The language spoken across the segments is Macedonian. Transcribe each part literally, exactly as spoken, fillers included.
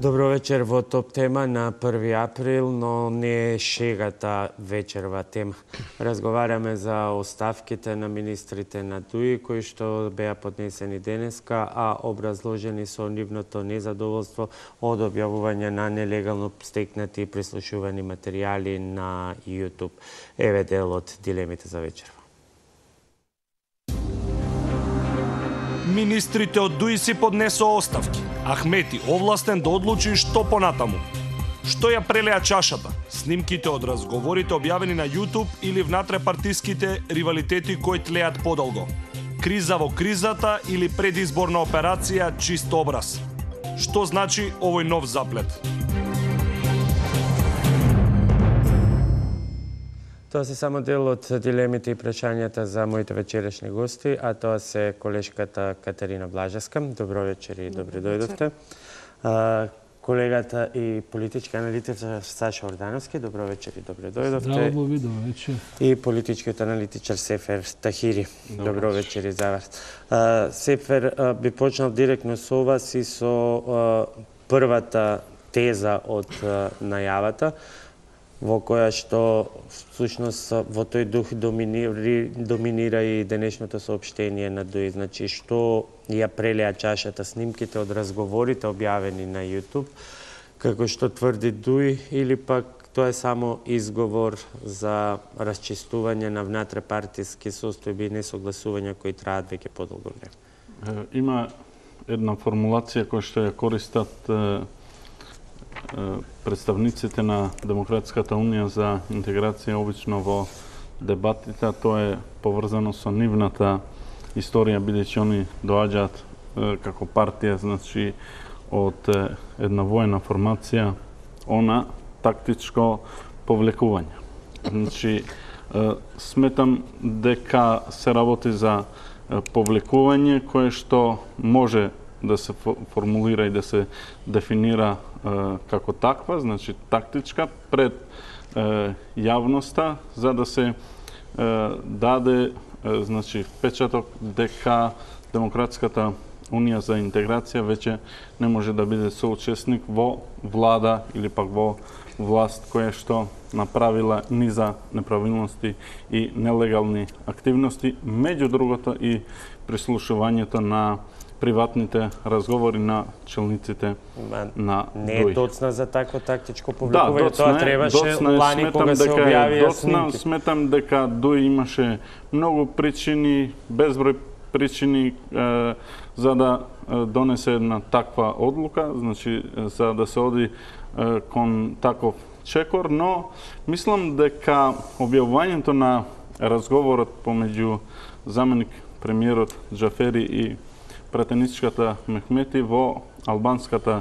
Добро вечер во Топ тема на први април, но не е шегата вечерва тема. Разговараме за оставките на министрите на ДУИ, кои што беа поднесени денеска, а образложени со нивното незадоволство од објавување на нелегално стекнати и прислушувани материјали на YouTube. Еве дел од дилемите за вечерва. Министрите од ДУИ си поднесоа оставки. Ахмети овластен да одлучи што понатаму. Што ја прелеа чашата? Снимките од разговорите објавени на YouTube или внатрепартиските ривалитети кои тлеат подолго? Криза во кризата или предизборна операција чист образ? Што значи овој нов заплет? Тоа се само дел од дилемите и прашањата за моите вечерешни гости, а тоа се колешката Катерина Блажевска. Добро вечер и добре дојдовте. Колегата и политички аналитичар Саша Ордановски. Добро вечер и добре дојдовте. Здраво ви, добро вечер. И политичкиот аналитичар Сефер Тахири. Добро, добро вечер и за вас. Сефер, би почнал директно со вас и со првата теза од најавата, во која што всушност во тој дух доминира, доминира и денешното соопштение на ДУИ. Значи, што ја прелеа чашата, снимките од разговорите објавени на YouTube, како што тврди ДУИ, или пак тоа е само изговор за расчистување на внатрепартиски состојби и несогласувања кои траат веќе подолго време? Има една формулација која што ја користат представниците на Демократската унија за интеграција обично во дебатите, а тоа е поврзано со нивната историја, бидејќи они доаѓаат како партија, значи од една воена формација, она тактичко повлекување. Значи, сметам дека се работи за повлекување кое што може да се формулира и да се дефинира како таква, значи тактичка, пред јавноста, за да се даде значи впечаток дека Демократската унија за интеграција веќе не може да биде соучесник во влада или пак во власт која што направила низа неправилности и нелегални активности, меѓу другото и прислушувањето на приватните разговори на челниците на ДУИ. Не е доцна за такво тактичко повлекување, да, тоа требаше лани кога се објавија снимки. Сметам дека ДУИ имаше многу причини, безброј причини е, за да донесе една таква одлука, значи за да се оди е, кон таков чекор, но мислам дека објавувањето на разговорот помеѓу заменик премиерот Џафери и пратеничката Мехмети во албанската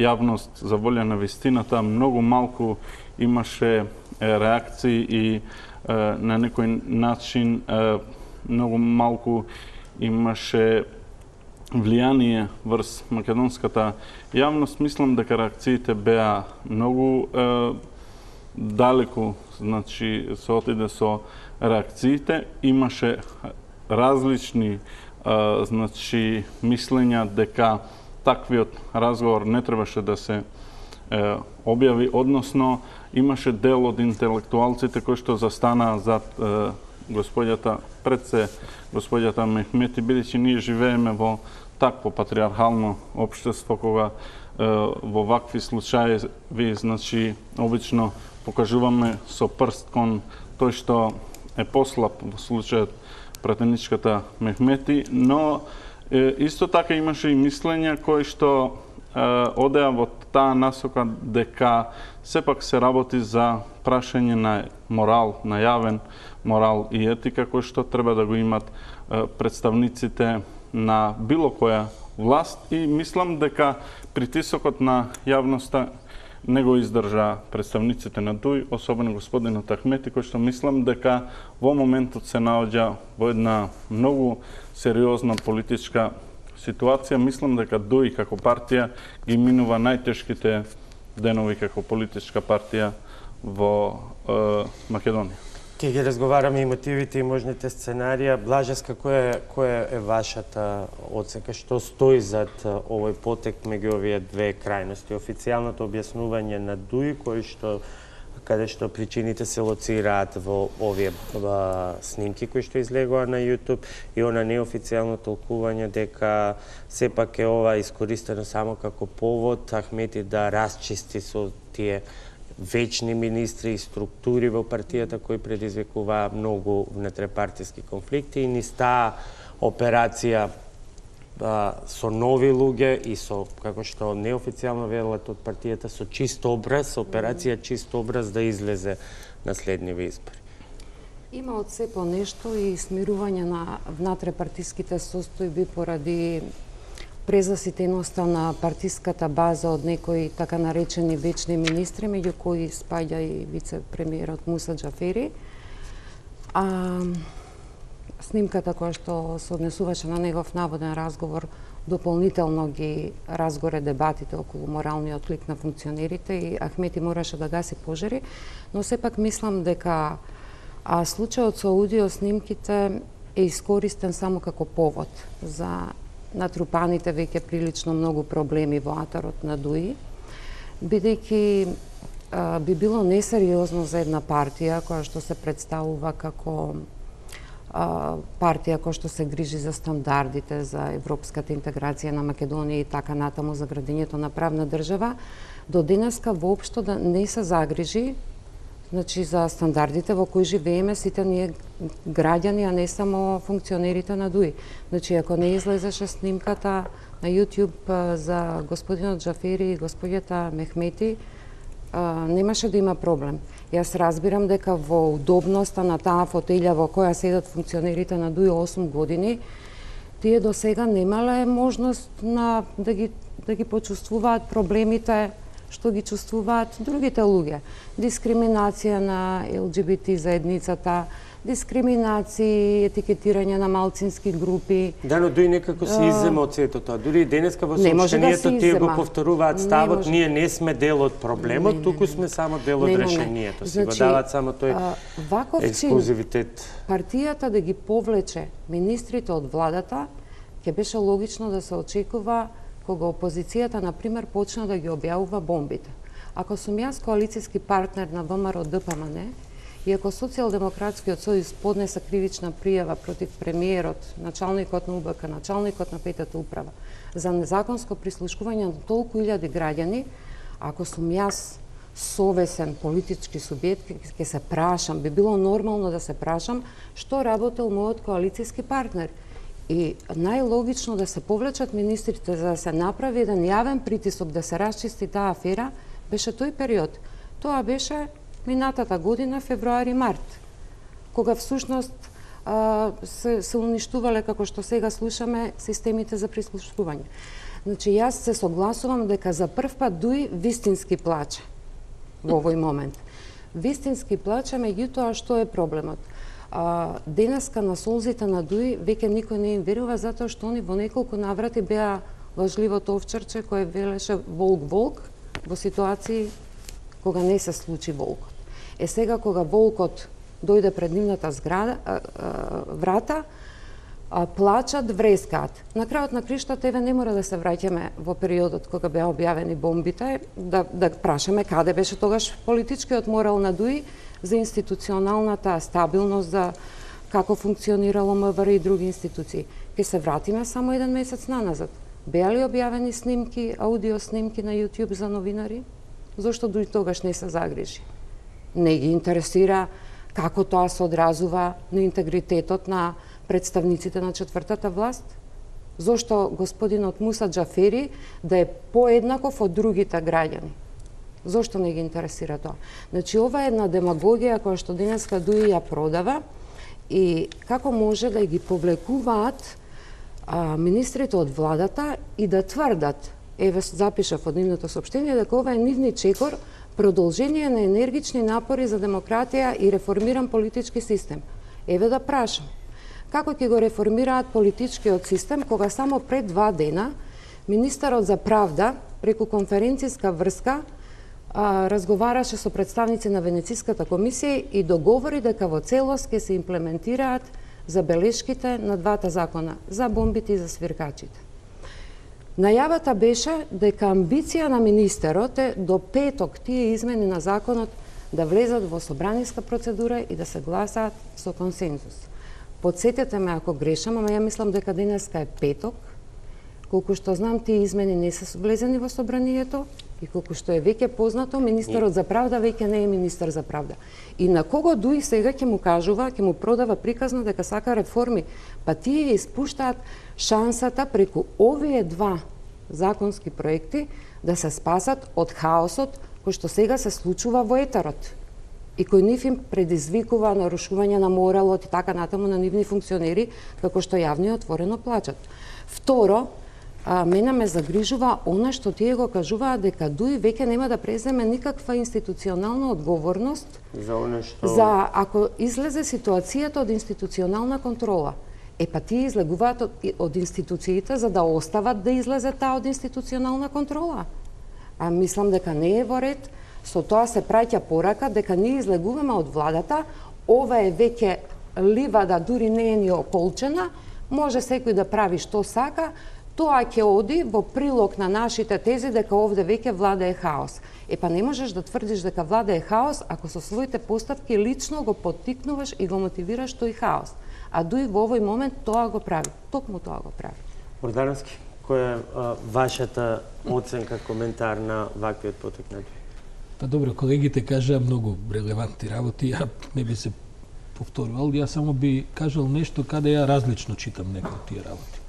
јавност за волја на вистината многу малку имаше реакции и е, на некој начин е, многу малку имаше влијание врз македонската јавност. Мислам дека реакциите беа многу е, далеку, значи се отиде со реакциите, имаше различни Uh, значи, мислења дека таквиот разговор не требаше да се uh, објави, односно имаше дел од интелектуалците кои што застанаа зад uh, господјата, пред се господјата Мехмети, бидејќи ние живееме во такво патриархално општество кога uh, во вакви случаи ви, значи, обично покажуваме со прст кон тој што е послаб во случајот пратеничката Мехмети, но е, исто така имаше и мислења кои што е, одеа во таа насока дека сепак се работи за прашање на морал, на јавен морал и етика кои што треба да го имат е, представниците на било која власт, и мислам дека притисокот на јавноста не го издржа представниците на ДУИ, особено господинот Ахмети, кој што мислам дека во моментот се наоѓа во една многу сериозна политичка ситуација. Мислам дека ДУИ како партија ги минува најтешките денови како политичка партија во е, Македонија. Ке ги разговараме и мотивите и можните сценарија. Блажеска, која, која е вашата оценка? Што стои зад овој потек меѓу овие две крајности? Официјалното објаснување на ДУИ, кој што каде што причините се лоцираат во овие а, снимки кои што излегоа на YouTube, и она неофицијално толкување дека сепак е ова искористено само како повод Ахмети да расчисти со тие вечни министри и структури во партијата кои предизвикуваа многу внетрепартиски конфликти, и низ таа операција а, со нови луѓе и со, како што неофицијално велат од партијата, со чист образ, операција чист образ да излезе на следниви избори. Има од се по нешто и смирување на внатрепартиските состојби поради презаситеноста на партиската база од некои така наречени вечни министри, меѓу кои спаѓа и вице-премиерот Муса Џафери. А снимката која што се однесуваше на негов наводен разговор дополнително ги разгоре дебатите околу моралниот лик на функционерите и Ахмети мораше да гаси пожари, но сепак мислам дека а случајот со аудио снимките е искористен само како повод за натрупаните веќе прилично многу проблеми во атарот на ДУИ, бидејќи би било несериозно за една партија која што се представува како а, партија која што се грижи за стандардите, за европската интеграција на Македонија и така натаму за градењето на правна држава, до денеска воопшто да не се загрижи, значи, за стандардите во кои живееме сите ние граѓани, а не само функционерите на ДУИ. Значи, ако не излезеше снимката на YouTube за господинот Џафери и господјата Мехмети, немаше да има проблем. Јас разбирам дека во удобноста на таа фотелја во која седат функционерите на ДУИ осум години, тие до сега немале можност на да ги да ги почувствуваат проблемите што ги чувствуваат другите луѓе. Дискриминација на Ел Џи Би Ти заедницата, дискриминации, етикетирање на малцински групи. Да, но ДУИ некако се иззема од сето тоа. Дури и денеска во Не може да се сообщението тие го иззема. повторуваат Не ставот, може. ние не сме дел од проблемот, Не, не, туку не. сме само дел од Не, не, не. решението. Си го Значи, дават само тој а, ваков чин, ексклузивитет. партијата да ги повлече министрите од владата, ќе беше логично да се очекува кога опозицијата, например, почна да ги објавува бомбите. Ако сум јас коалицијски партнер на Вэ Ем Ар О Д П М Н, и ако Социјалдемократскиот сојуз поднесе кривична пријава против премиерот, началникот на У Б К, началникот на петата управа, за незаконско прислушкување на толку илјади граѓани, ако сум јас совесен политички субјект, ќе се прашам, би било нормално да се прашам што работел мојот коалицијски партнер. И најлогично да се повлечат министрите за да се направи еден јавен притисок да се расчисти таа афера, беше тој период. Тоа беше минатата година, февруари-март, кога всушност а, се, се уништувале, како што сега слушаме, системите за прислушкување. Значи, јас се согласувам дека за прв пат ДУИ вистински плаче во овој момент. Вистински плаче, меѓутоа што е проблемот? А, денеска на солзите на ДУИ веќе никој не им верува затоа што они во неколку наврати беа лажливото овчарче кое велеше волк-волк во ситуации кога не се случи волкот. Е сега кога волкот дојде пред нивната зграда, а, а, врата, а, плачат, врескаат. На крајот на криштата, еве не мора да се враќаме во периодот кога беа објавени бомбите, да, да прашаме каде беше тогаш политичкиот морал на ДУИ за институционалната стабилност, за како функционирало М В Р и други институции. Ке се вратиме само еден месец наназад. Беа ли објавени снимки, аудио снимки на YouTube за новинари? Зошто ДУИ тогаш не се загрижи? Не ги интересира како тоа се одразува на интегритетот на представниците на четвртата власт? Зошто господинот Муса Џафери да е поеднаков од другите граѓани? Зошто не ги интересира тоа? Значи, ова е една демагогија која што денеска ДУИ ја продава и како може да ги повлекуваат а, министрите од владата и да тврдат, еве запишав од нивното соопштение, дека ова е нивни чекор продолжение на енергични напори за демократија и реформиран политички систем. Еве да прашам, како ќе го реформираат политичкиот систем кога само пред два дена министерот за правда преку конференцијска врска а, разговараше со представници на Венециската комисија и договори дека во целост ќе се имплементираат забелешките на двата закона, за бомбите и за свиркачите. Најавата беше дека амбиција на министерот е до петок тие измени на законот да влезат во собраниска процедура и да се гласаат со консензус. Подсетете ме ако грешам, ама ја мислам дека денеска е петок. Колку што знам, тие измени не се влезени во собранието и колку што е веќе познато, министерот за правда веќе не е министер за правда. И на кого Дуи сега ќе му кажува, ќе му продава приказна дека сака реформи, па тие испуштаат шансата преку овие два законски проекти да се спасат од хаосот кој што сега се случува во етерот и кој нив им предизвикува нарушување на моралот и така натаму на нивни функционери, како што јавно и отворено плачат. Второ, а, мене ме загрижува она што тие го кажуваат дека Дуи веќе нема да преземе никаква институционална одговорност за она што за ако излезе ситуацијата од институционална контрола. Е па тие излегуваат од, од институциите за да остават да излезе таа од институционална контрола. А мислам дека не е во ред. Со тоа се праќа порака дека ние излегуваме од владата, ова е веќе ливада, дури не е ни околчена, може секој да прави што сака, тоа ќе оди во прилог на нашите тези дека овде веќе влада е хаос. Е па не можеш да тврдиш дека влада е хаос ако со своите поставки лично го поттикнуваш и го мотивираш тој хаос. А Дуи во овој момент тоа го прави, токму тоа го прави. Ордански, која е а, вашата оценка, коментар на ваквиот потек на Дуи? Па добро, колегите кажаа многу релевантни работи, ја не би се повторувал, ја само би кажал нешто каде ја различно читам некои од тие работи.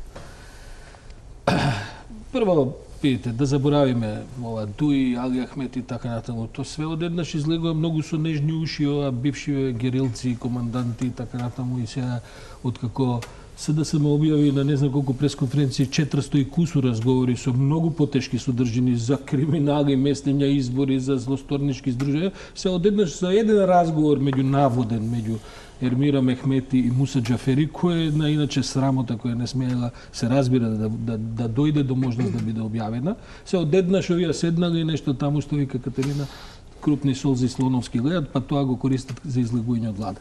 Прво, видите, да заборавиме ова Дуи, Али Ахмет и така натаму, тоа све одеднаш излегува многу со нежни уши, ова бивши герилци, команданти и така натаму и сега откако СДСМ објави на не знам колку пресконференции четиристо и кусу разговори со многу потешки содржини за криминали, местења избори, за злосторнички здружувања, се одеднаш за еден разговор меѓу наводен меѓу Ермира Мехмети и Муса Џафери, која е една иначе срамота која не смеела се разбира да, да, да дојде до можност да биде објавена, се одеднаш овие седнали нешто таму што вика Катерина, крупни солзи слоновски гледат, па тоа го користат за излегување од влада.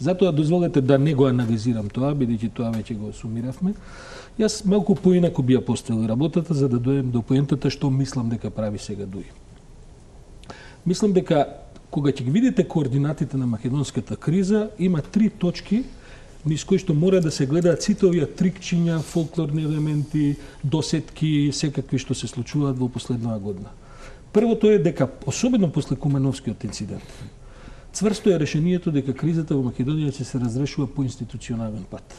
Затоа дозволете да не го анализирам тоа, бидејќи тоа веќе го сумиравме. Јас малку поинаку би ја поставил работата за да дојдем до поентата што мислам дека прави сега Дуи. Мислам дека кога ќе ги видите координатите на македонската криза, има три точки низ кои што мора да се гледаат сите овие трикчиња, фолклорни елементи, досетки, секакви што се случуваат во последнава година. Првото е дека, особено после Кумановскиот инцидент, цврсто е решението дека кризата во Македонија ќе се разрешува по институционален пат.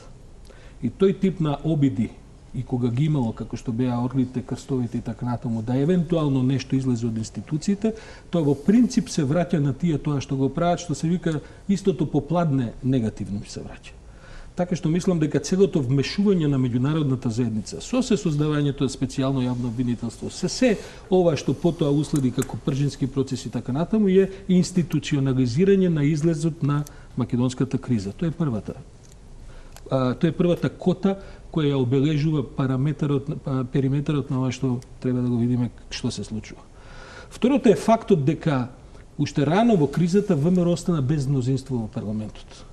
И тој тип на обиди, и кога ги имало, како што беа орлите, крстовите и така натаму, да евентуално нешто излезе од институциите, тоа во принцип се враќа на тие тоа што го прават, што се вика истото попладне негативно се враќа. Така што мислам дека целото вмешување на меѓународната заедница, со се создавањето од специјално јавно обвинителство, се се ова што потоа уследи како пржински процес и така натаму, е институционализирање на излезот на македонската криза. Тоа е првата. А, тоа е првата кота која ја обележува параметарот, периметарот на ова што треба да го видиме што се случува. Второто е фактот дека уште рано во кризата ВМРО остана без мнозинство во парламентот.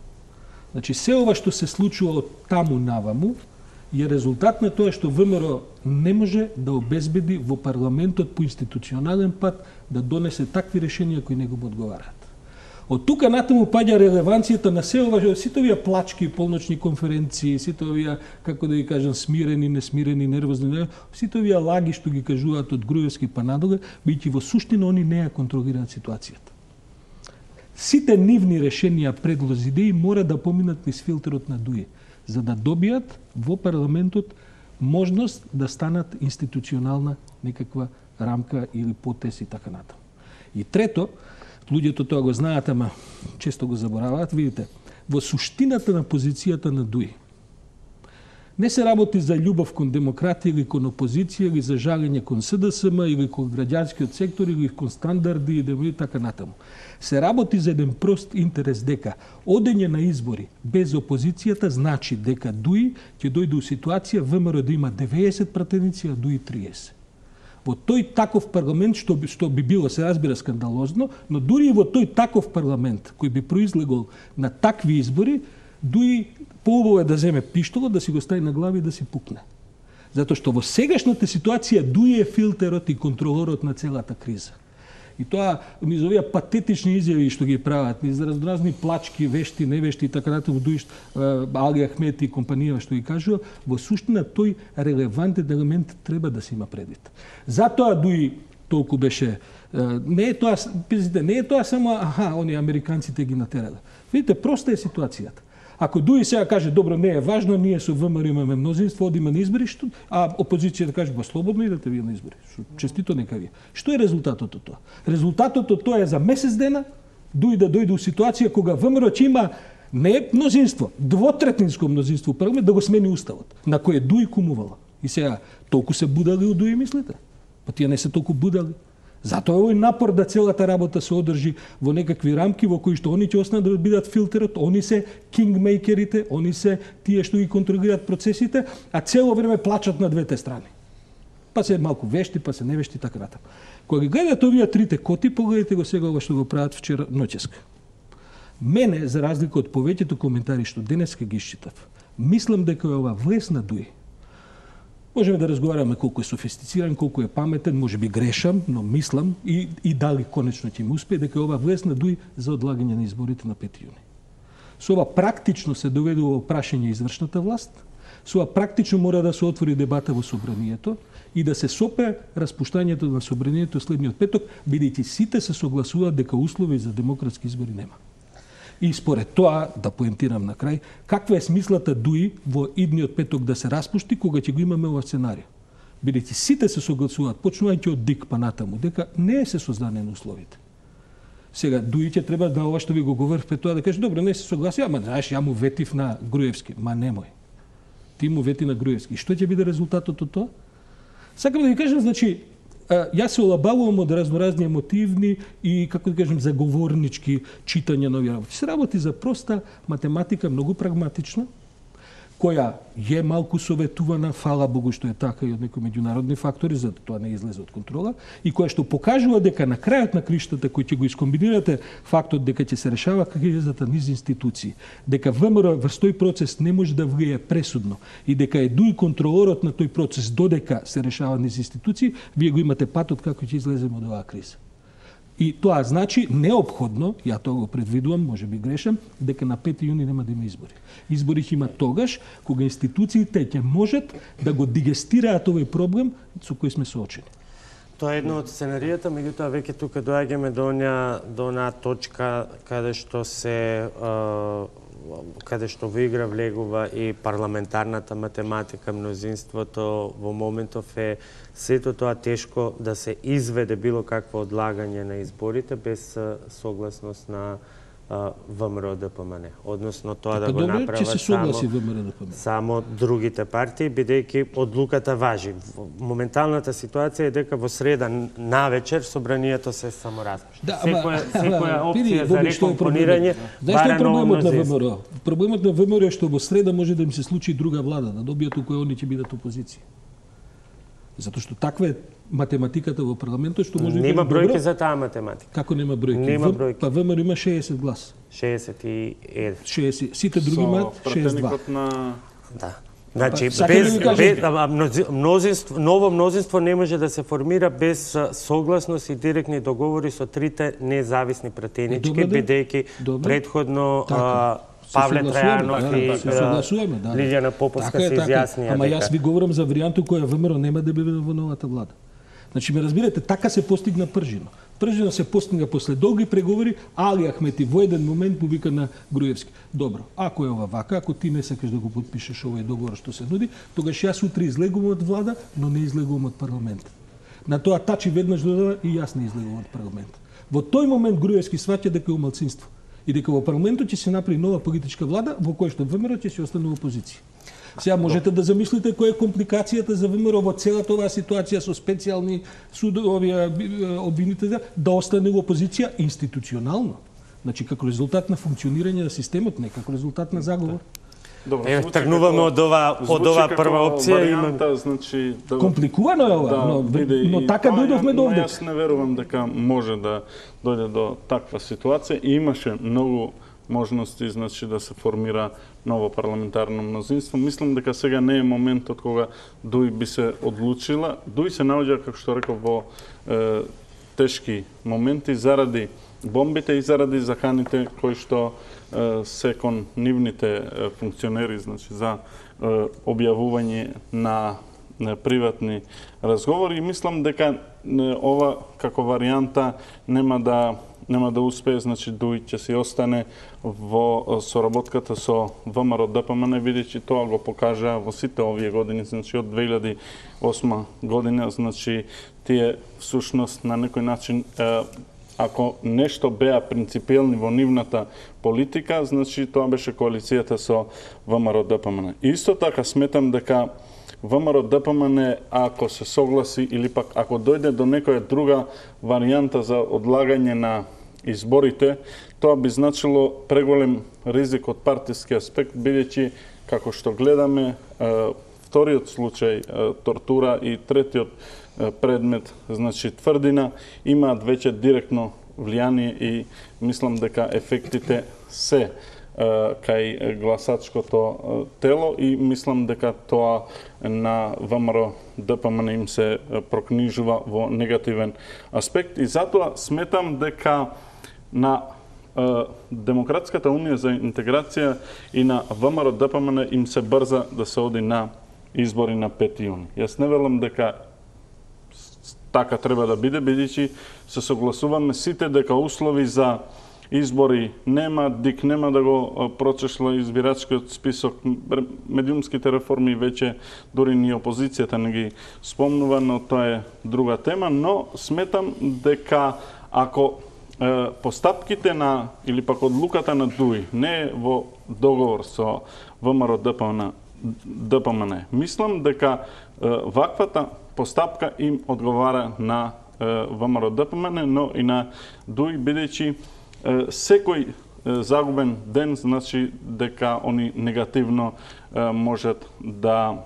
Значи, се ова што се случува од таму наваму е резултат на тоа што ВМРО не може да обезбеди во парламентот по институционален пат да донесе такви решенија кои не го одговараат. Од тука натаму паѓа релеванцијата на се ова, сите овие плачки, полночни конференции, сите овие, како да ги кажам, смирени, несмирени, нервозни, сите овие лаги што ги кажуваат од Груевски па надоле, бидејќи во суштина они не ја контролираат ситуацијата. Сите нивни решенија, предлози, идеи мора да поминат низ филтерот на Дуи, за да добијат во парламентот можност да станат институционална некаква рамка или потес и така натаму. И трето, луѓето тоа го знаат, ама често го забораваат, видите, во суштината на позицијата на Дуи не се работи за љубов кон демократија или кон опозиција или за жалење кон СДСМ или кон граѓанскиот сектор или кон стандарди и така натаму. Се работи за еден прост интерес дека одење на избори без опозицијата значи дека Дуи ќе дојде у ситуација ВМРО да има деветдесет пратеници, а Дуи триесет. Во тој таков парламент, што би, што би било, се разбира, скандалозно, но дури и во тој таков парламент, кој би произлегол на такви избори, дури поубаво е да земе пиштолот, да си го стави на глави и да си пукне. Затоа што во сегашната ситуација дуи е филтерот и контролорот на целата криза. И тоа низ овие патетични изјави што ги прават, низ разноразни плачки, вешти, невешти и така натаму, дуиш Али Ахмет и компанија што ги кажува, во суштина тој релевантен елемент треба да се има предвид. Затоа дуи толку беше не е тоа, не е тоа само аха, они американците ги натерале. Видите, проста е ситуацијата. Ако дуи сега каже, добро, не е важно, ние со ВМРО имаме мнозинство, одиме на избори, што, а опозицијата каже, ба слободно идете вие на избори. Честито нека вие. Што е резултатот од тоа? Резултатот од тоа е за месец дена, дуи да дојде у ситуација кога ВМРО ќе има не мнозинство, двотретинско мнозинство, парламент да го смени уставот, на кој дуи кумувала. И сега, толку се будали у дуи, мислите? Па тие не се толку будали. Затоа е овој напор да целата работа се одржи во некакви рамки во кои што они ќе останат да бидат филтерот, они се кингмейкерите, они се тие што ги контролираат процесите, а цело време плачат на двете страни. Па се малку вешти, па се невешти, така натаму. Кога ги гледате овие трите коти, погледнете го сега ова што го прават вчера ноќеска. Мене, за разлика од повеќето коментари што денеска ги исчитав, мислам дека е ова влез на дуи. Можеме да разговараме колку е софистициран, колку е паметен, може би грешам, но мислам и, и дали конечно ќе му успее дека ова влез на дуи за одлагање на изборите на пети јуни. Со ова практично се доведува во прашање извршната власт, со ова практично мора да се отвори дебата во собранието и да се сопе распуштањето на собранието следниот петок, бидејќи сите се согласуваат дека услови за демократски избори нема. И според тоа, да поентирам на крај, каква е смислата дуи во идниот петок да се распушти кога ќе го имаме ова сценарио? Бидејќи сите се согласуваат, почнувајќи од ДИК па натаму, дека не се создадени условите. Сега, дуи ќе треба да ова што ви го говорив пред тоа да каже, добро, не се согласи, ама знаеш, ја му ветив на Груевски. Ма немој. Ти му вети на Груевски. И што ќе биде резултатот од тоа? Сакам да ви кажам, значи, јас се олабавувам од разноразни емотивни и, како да кажем, заговорнички читања на овие работи. Се работи за проста математика, многу прагматична, која е малку советувана, фала Богу што е така и од некои меѓународни фактори, за да тоа не излезе од контрола, и која што покажува дека на крајот на криштата, кој ќе го искомбинирате фактот дека ќе се решава кризата низ институции, дека ВМРО врз тој процес не може да влие пресудно и дека е дуи контролорот на тој процес додека се решава низ институции, вие го имате патот како ќе излеземе од оваа криза. И тоа значи неопходно, ја тоа го предвидувам, може би грешам, дека на пети јуни нема да има избори. Избори ќе има тогаш кога институциите ќе можат да го дигестираат овој проблем со кој сме соочени. Тоа е едно од сценаријата, меѓутоа веќе тука доаѓаме до онаа до онаа точка каде што се каде што во игра влегува и парламентарната математика, мнозинството во моментов е сето тоа тешко да се изведе било какво одлагање на изборите без согласност на ВМРО-ДПМН. Односно тоа да го направат само, само другите партии, бидејќи одлуката важи. Моменталната ситуација е дека во среда навечер собранието се само распушти. Да, секоја, секоја опција за рекомпонирање бара ново мнозинство. Проблемот на ВМРО е што во среда може да им се случи друга влада, да добијат у која они ќе бидат опозиција. Затоа што таква е математиката во парламентот што може нема да бројки за таа математика. Како нема бројки? Нема бројки. Па ВМРО има шеесет глас. шеесет и еден. шеесет. Сите други имаат шеесет и два. На... Да. Значи, Па, без, да без мнозинство, ново мнозинство не може да се формира без согласност и директни договори со трите независни пратенички, бидејќи предходно Павле Трајанов и Лилјана Поповска се изјаснија. Ама јас ви говорам за варијанту која ВМРО нема да биде во новата влада. Значи, ме разбирате, така се постигна пржина. Пржина се постигна после долги преговори, Али Ахмети во еден момент му вика на Груевски: добро, ако е ова вака, ако ти не сакаш да го подпишеш овој договор што се нуди, тогаш јас утре излегувам од влада, но не излегувам од парламент. На тоа Тачи веднаш додава и јас не излегувам од парламент. Во тој момент Груевски сваќа дека е малцинство и дека во парламентот ќе се направи нова политичка влада во која што ВМРО ќе се остане во опозиција. Сега можете да замислите која е компликацијата за ВМРО во целата оваа ситуација со специјални судови обвинители да остане во опозиција институционално. Значи како резултат на функционирање на системот, не како резултат на заговор. Добро, Е, звучи тргнуваме како- од ова од звучи ова како прва опција и имам варијанта, значи да Компликувано е ова, да, но, биде но и така тоа, дојдовме до но овде. Јас не верувам дека може да дојде до таква ситуација и имаше многу можности, значи, да се формира ново парламентарно мнозинство. Мислам дека сега не е моментот кога Дуј би се одлучила. Дуј се наоѓа, како што реков, во е, тешки моменти заради бомбите и заради заканите кои што е, се кон нивните е, функционери, значи, за е, објавување на на приватни разговори и мислам дека е, ова како варијанта нема да нема да успее, значи Дуј ќе си остане во соработката со ВМРО Д П М Н, бидејќи тоа го покажа во сите овие години, значи од две илјади и осма година, значи тие всушност на некој начин е, ако нешто беа принципиелни во нивната политика, значи тоа беше коалицијата со ВМРО Д П М Н. И исто така сметам дека ВМРО Д П М Н, ако се согласи или пак ако дојде до некоја друга варијанта за одлагање на изборите, тоа би значило преголем ризик од партиски аспект, бидејќи, како што гледаме, вториот случај тортура и третиот предмет, значи тврдина, имаат веќе директно влијание и мислам дека ефектите се кај гласачкото тело и мислам дека тоа на ВМРО Д П М Н им се прокнижува во негативен аспект и затоа сметам дека на Демократската унија за интеграција и на ВМРО Д П М Н им се брза да се оди на избори на пети јуни. Јас не велам дека така треба да биде, бидејќи се согласуваме сите дека услови за избори нема, ДИК нема да го прочешла избирачкиот список, медиумските реформи веќе дури ни опозицијата не ги спомнува, но тоа е друга тема, но сметам дека ако е, постапките на или пак одлуката на Дуј не е во договор со ВМРО Д П М Н, Д П М Н, мислам дека е, ваквата постапка им одговара на е, ВМРО Д П М Н, но и на Дуј, бидејќи секој загубен ден значи дека они негативно можат да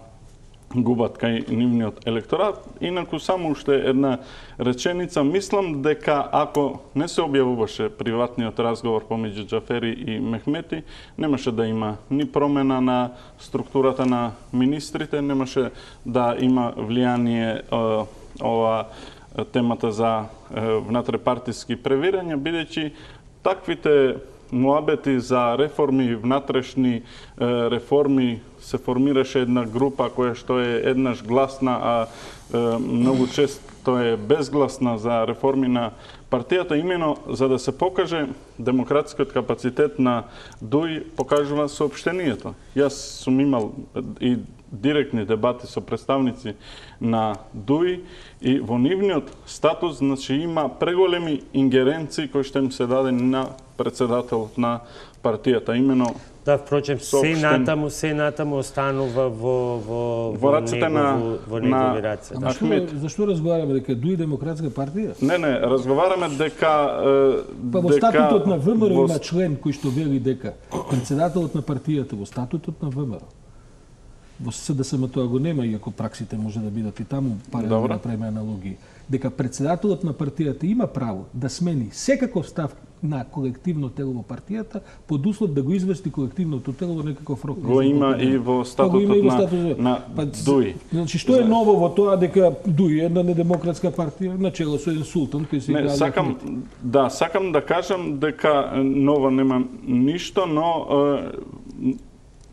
губат кај нивниот електорат. Инаку само уште една реченица, мислам дека ако не се објавуваше приватниот разговор помеѓу Џафери и Мехмети, немаше да има ни промена на структурата на министрите, немаше да има влијание ова темата за внатрепартиски превирања, бидејќи таквите муабети за реформи, внатрешни реформи, се формираше една група која што е еднаш гласна, а многу често е безгласна за реформи на партијата, имено за да се покаже демократскиот капацитет на Дуј, покажува соопштението. Јас сум имал и директни дебати со представници на Дуј и во нивниот статус значи има преголеми ингеренции кои што им се дадени на председателот на партијата, имено да, впрочем, се натаму, се натаму останува во во во рацете на во негови раце. Да. Зашто, зашто разговараме дека Дуј демократска партија? Не, не, разговараме дека па во статутот на ВМРО има член кој што вели дека председателот на партијата во статутот на ВМРО. Во С Д С М тоа го нема, иако праксите може да бидат и таму, паралелно да правиме аналогии. Дека председателот на партијата има право да смени секаков став на колективно тело во партијата, под услов да го извести колективното тело во некаков рок. Го има и во статутот на, статут... на па, Дуј. Значи, што е ново во тоа дека Дуј е една недемократска партија, начело со еден султан кој се играе? Не, сакам, да, сакам да кажам дека ново нема ништо, но е,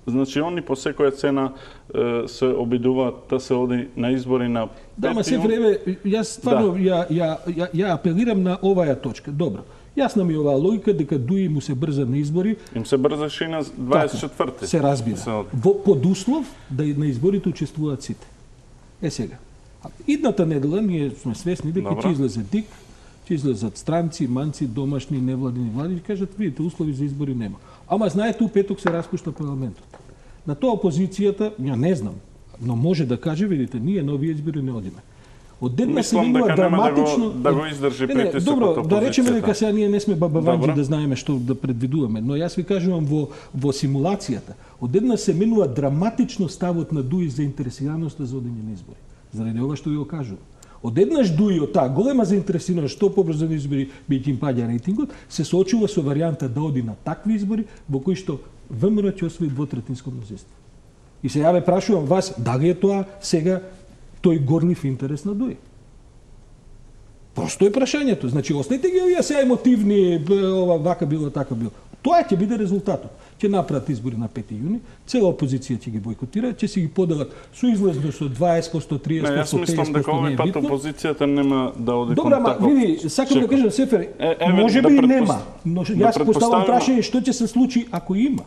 значи, они по секоја цена е, се обидуваат да се оди на избори на пети. Да, ма се време, јас стварно, да. ја, ја, ја, ја апелирам на оваја точка. Добро. Јасна ми оваа логика дека Дуј му се брза на избори. Им се брзаше и на дваесет и четврти. Се разбира. Се Во, под услов да на изборите учествуваат сите. Е сега. Идната недела ние сме свесни дека ќе излезе ДИК, ќе излезат странци, манци, домашни, невладини влади и кажат, видите, услови за избори нема. Ама знаете, у петок се распушта парламентот. На тоа опозицијата, ја не знам, но може да каже, видите, ние на овие избори не одиме. Одеднаш се Мислам менува дека нема да го- драматично... да го издржи Не, не, притисокот добро, да речеме опозицијата. дека сега ние не сме бабаванџи Добро. да знаеме што да предвидуваме, но јас ви кажувам во во симулацијата, одеднаш се менува драматично ставот на Дуи за заинтересираноста за одење на избори. Заради ова што ви го кажувам. Одеднаш Дуи од таа голема заинтересираност што побрзо на избори биќе им паѓа рейтингот, се соочува со варијанта да оди на такви избори во кои што ВМРО ќе освои двотретинско мнозинство. И сега ве прашувам вас, дали е тоа сега тој горлив интерес на Дуи? Просто е прашањето. Значи, оставите ги овие сега емотивни, б, ова вака било, така било. Тоа ќе биде резултатот. Ќе направат избори на пети јуни, цела опозиција ќе ги бойкотира, ќе си ги поделат со излезно со дваесет по сто, триесет Не, по јас сто, мислам петдесет по дека сто, не овој е пат битно. опозицијата нема да оди Добра, кон ма таков види, сакам да чекор. кажам Сефер, Е, еве, може да би предпост- нема, но да јас поставам предпоставиме- прашање што ќе се случи ако има.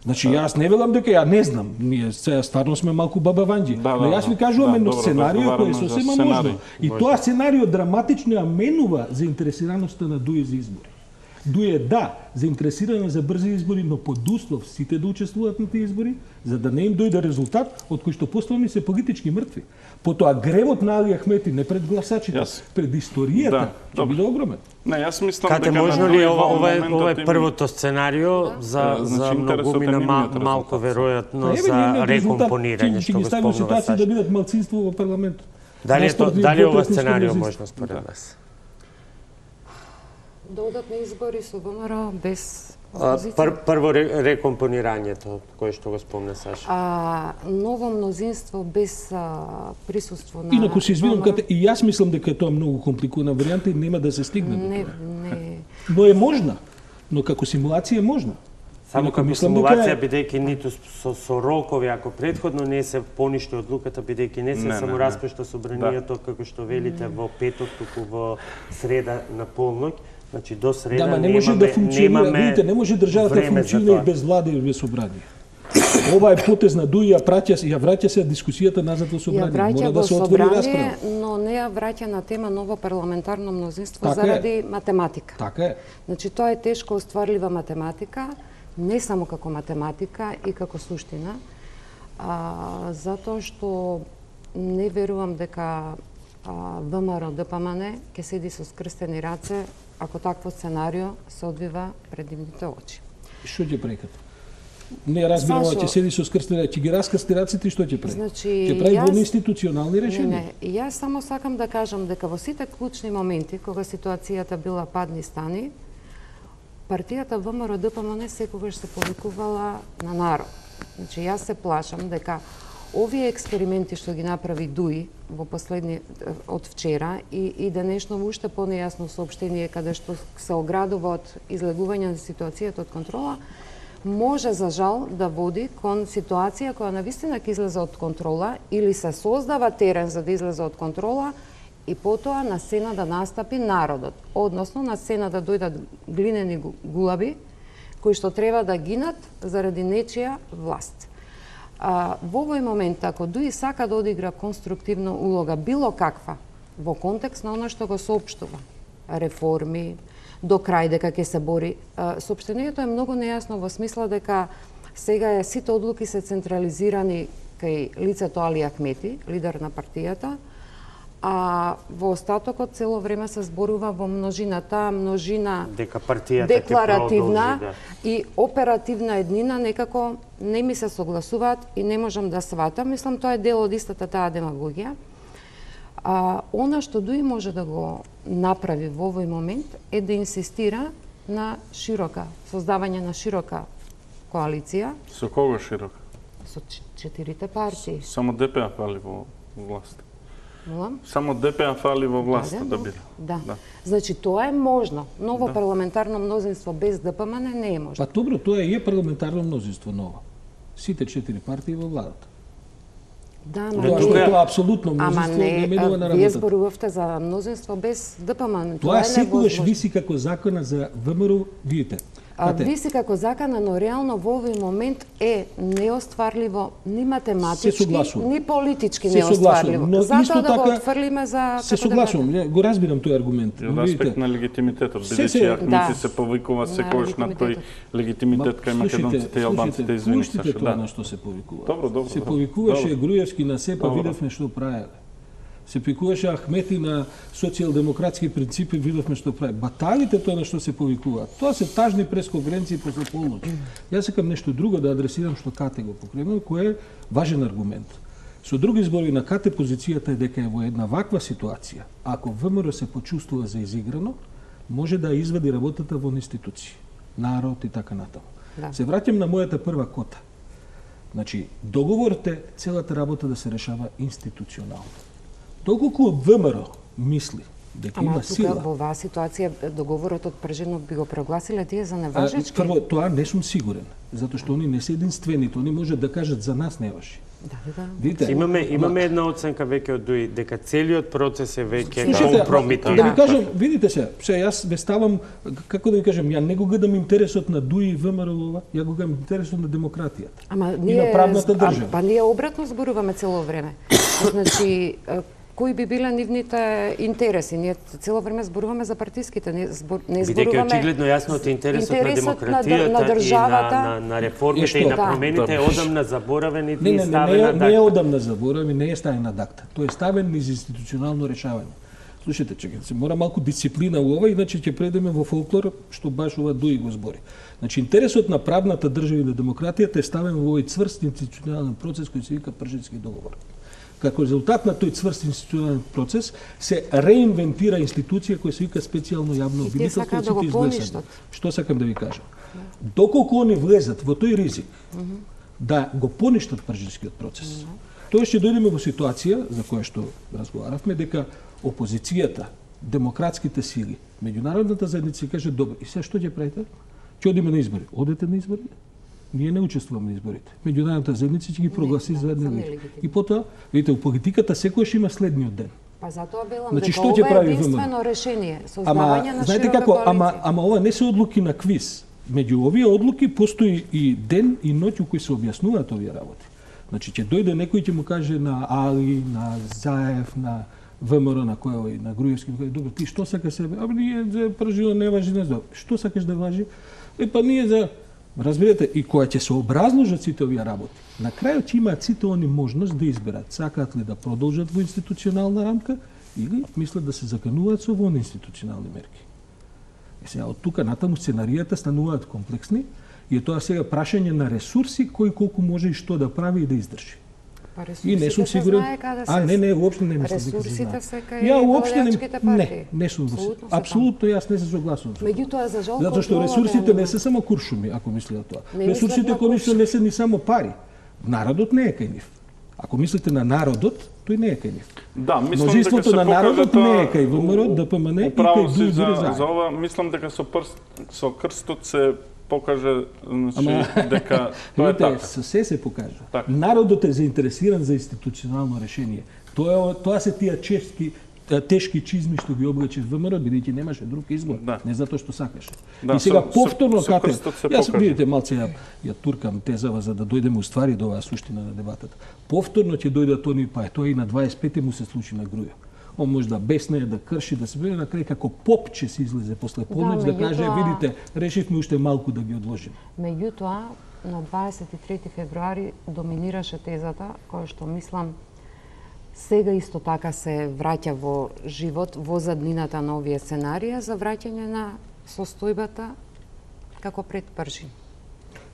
Значи, јас не велам дека ја не знам, ние сега стварно сме малку бабаванџи, Да, да, но јас ви да. кажувам Да, едно добро, сценарио кој е разговараме за сосема сценарij. можно. И тоа сценарио драматично ја менува заинтересираноста на Дуи за избори. Дуи е да, заинтересирана за брзи избори, но под услов сите да учествуваат на тие избори, за да не им дојде резултат од кој што поставени се политички мртви. Потоа гревот на Али Ахмети не пред гласачите, Јас. пред историјата, Да, ќе добро. биде огромен. Не, јас мислам Кате, дека можно на ли Дуи ова, во ова, е, моментот ова е им- првото сценарио за, Значи, за интересот е многумина ма, нивниот малку резултат. веројатно Па, еве, за нивниот резултат рекомпонирање, ќе- ќе што ги го стави во спомнува ситуација да Саша. бидат малцинство во парламентот. Дали е, то, Наспроти дали ова двотретинско сценарио мнозинство. можно според вас? Да одат на избори со ВМРО без А, опозиција. пр, прво ре, рекомпонирањето, кое што го спомна Саша. А, ново мнозинство без а, присуство на... Инаку се извинувам, ВМРО. кате, и јас мислам дека е тоа многу компликувана варијанта и нема да се стигне до Не, тоа. не. Но е можна. Но како симулација е можна. Само Инаку како мислам симулација, дека е- бидејќи ниту со, со рокови, ако предходно не се поништи одлуката, бидејќи не се Не, не, само не. распушта собранието, како што велите во петок, туку во среда на полноќ, значи до среда Да, ма не може да функционира, видите, не може државата да време за функционира тоа. и без влада и без собрание. Ова е потез на Дуи, ја праќа, ја враќа се дискусијата назад во Ја собрание. враќа Мора во да се отвори собрание, расправа. но не ја враќа на тема ново парламентарно мнозинство Така е. заради математика. Така е. Значи, тоа е тешко остварлива математика, не само како математика и како суштина, а, затоа што не верувам дека а, ВМРО ДПМН ќе седи со скрстени раце ако такво сценарио се одвива пред нивните очи. Што ќе прекат? Не разбирам, Сашо, ќе седи со скрстени, ќе ги раскрсти раците и што ќе прави? Значи, ќе прави јас- во институционални Не, решенија. не, и јас само сакам да кажам дека во сите клучни моменти, кога ситуацијата била падни стани, партијата ВМРО ДПМН секогаш се повикувала на народ. Значи, јас се плашам дека овие експерименти што ги направи Дуи во последни од вчера и, и денешно уште понејасно соопштение каде што се оградува од излегување на ситуацијата од контрола, може за жал да води кон ситуација која навистина ќе излезе од контрола или се создава терен за да излезе од контрола и потоа на сцена да настапи народот, односно на сцена да дојдат глинени гу- гулаби кои што треба да гинат заради нечија власт. А, во овој момент, ако Дуи сака да одигра конструктивна улога, било каква, во контекст на оно што го соопштува, реформи, до крај дека ќе се бори, а, соопштението е многу нејасно во смисла дека сега е сите одлуки се централизирани кај лицето Али Ахмети, лидер на партијата, а во остатокот цело време се зборува во множина, таа множина Дека партијата ќе декларативна продолжи, да. и оперативна еднина некако не ми се согласуваат и не можам да сватам. Мислам, тоа е дел од истата таа демагогија. А, она што Дуи може да го направи во овој момент е да инсистира на широка, создавање на широка коалиција Со кого широк? со ч- четирите партии. Само ДПА фали во власт. Молам? Само ДПА фали во власт Да, да да, биде. Да. Да. Значи, тоа е можно. Ново парламентарно мнозинство без ДПМН не е можно. Па добро, тоа е парламентарно мнозинство ново. Сите четири партии во владата. Да, ама Тоа што не- е тоа апсолутно Ама мнозинство не, не менува на а, вие работата. зборувавте за мнозинство без ДПМН. Тоа е секогаш невозможно. виси како закона за ВМРО, видите. А, Кате, виси како закана, но реално во овој момент е неостварливо ни математички, Се согласувам. ни политички Се неостварливо. согласувам, но Затоа исто да го така отфрлиме за се како согласувам, дебата. не, го разбирам тој аргумент. И но од видите, аспект на легитимитетот, Се, бидејќи се- Ахмети да. се повикува На секојаш на тој легитимитетот. легитимитет кај македонците и албанците, извини пуштите Сашо, тоа да. на што се повикува. Добро, добро, Се добро. повикуваше Добро. Груевски на се, па Добро. видевме што правеле. Се повикуваше Ахмети на социјалдемократски принципи, видовме што прави. Баталите тоа на што се повикуваат. Тоа се тажни пресконференции после полноќ. Јас сакам нешто друго да адресирам што Кате го покренува, кој е важен аргумент. Со други зборови, на Кате позицијата е дека е во една ваква ситуација. Ако ВМРО се почувствува за изиграно, може да извади работата во институции, народ и така натаму. Да. Се враќам на мојата прва кота. Значи, договорот е целата работа да се решава институционално. Доколку ВМРО мисли дека Ама има сила... Ама тука во оваа ситуација договорот од Пржинов би го прогласиле тие за неважечки? Прво, тоа не сум сигурен, затоа што они не се единствените, они можат да кажат за нас не важи. Да, да. Видите, имаме имаме една оценка веќе од ДУИ дека целиот процес е веќе Слушайте, компромитиран. Да ви кажам, видите се, се јас ве ставам, како да ви кажам, ја не го гледам интересот на ДУИ и ВМРО ова, ја го гледам интересот на демократијата. Ама и ние на правната држава. А, па ние обратно зборуваме цело време. Значи, кои би биле нивните интереси? Ние цело време зборуваме за партиските, не, збор, не зборуваме... Бидејќи очигледно јасно од интересот, интересот на демократијата на, на државата, и на, на, на реформите и, и на промените е одамна заборавен и не, не, ставен на дакта. Не е одамна заборавен, не е ставен на дакта. Тој е ставен низ институционално решавање. Слушайте, чекайте, се мора малку дисциплина у ова, иначе ќе предеме во фолклор, што баш ова ДУИ го збори. Значи, интересот на правната држава и на демократијата е ставен во овој цврст институционален процес кој се вика Пржински договор. Како резултат на тој цврст институционален процес се реинвентира институција која се вика специјално јавно обвинителство. И те сакаат да го поништат. Што сакам да ви кажам? Доколку они влезат во тој ризик mm -hmm. да го поништат Пржинскиот процес, mm -hmm. тоа ќе дојдеме во ситуација за која што разговаравме дека опозицијата, демократските сили, меѓународната заедница ќе каже добро, и сега што ќе правите? Ќе одиме на избори. Одете на избори? Ние не учествуваме на изборите. Меѓународната заедница ќе ги прогласи за нелегитимни. И потоа, видите, у политиката секојаш има следниот ден. Па затоа велам значи, дека што ова прави е единствено решение, создавање ама, на знаете широка како, коалиција. ама, ама ова не се одлуки на квиз. Меѓу овие одлуки постои и ден и ноќ у кој се објаснуваат овие работи. Значи, ќе дојде некој ќе му каже на Али, на Заев, на ВМРО, на кој на Груевски, добро, ти што сакаш себе? Абе, ние за Пржино не важи, не знам. Што сакаш да важи? Е, па ние за... Разбирате, и која ќе се образложат сите овие работи. На крајот ќе имаат сите они можност да изберат сакаат ли да продолжат во институционална рамка или мислат да се закануваат со вон институционални мерки. И сега од тука натаму сценаријата стануваат комплексни и е тоа сега прашање на ресурси кој колку може и што да прави и да издржи. И не сум сигурен. А не, не, уопште не мислам дека се знае. Ресурсите се кај уопштените партии. Не, не сум во апсолутно јас не се согласувам. Меѓутоа за жал затоа што ресурсите не се само куршуми, ако мислите тоа. Ресурсите конечно не се ни само пари. Народот не е кај нив. Ако мислите на народот, тој не е кај нив. Да, мислам дека се на народот не е кај ВМРО, ДПМН и кај други за, за ова мислам дека со прст со крстот се покаже, значи, ама, дека тоа е така. Со се се покажа. Так. Народот е заинтересиран за институционално решение. Тоа тоа се тие чешки тешки чизми што ги облече ВМРО, бидејќи немаше друг избор, да. Не затоа што сакаше. Да, и сега со, повторно со, кате, со јас видите малце ја, ја туркам тезава за да дојдеме уствари до оваа суштина на дебатата. Повторно ќе дојдат они, па тоа и на дваесет и пети му се случи на Груја. Он може да беснее, да крши, да се биде на крај како поп че се излезе после полноќ да, да каже видите, решивме уште малку да ги одложиме. Меѓутоа на дваесет и трети февруари доминираше тезата која што мислам сега исто така се враќа во живот во заднината на овие сценарија за враќање на состојбата како пред Пржин.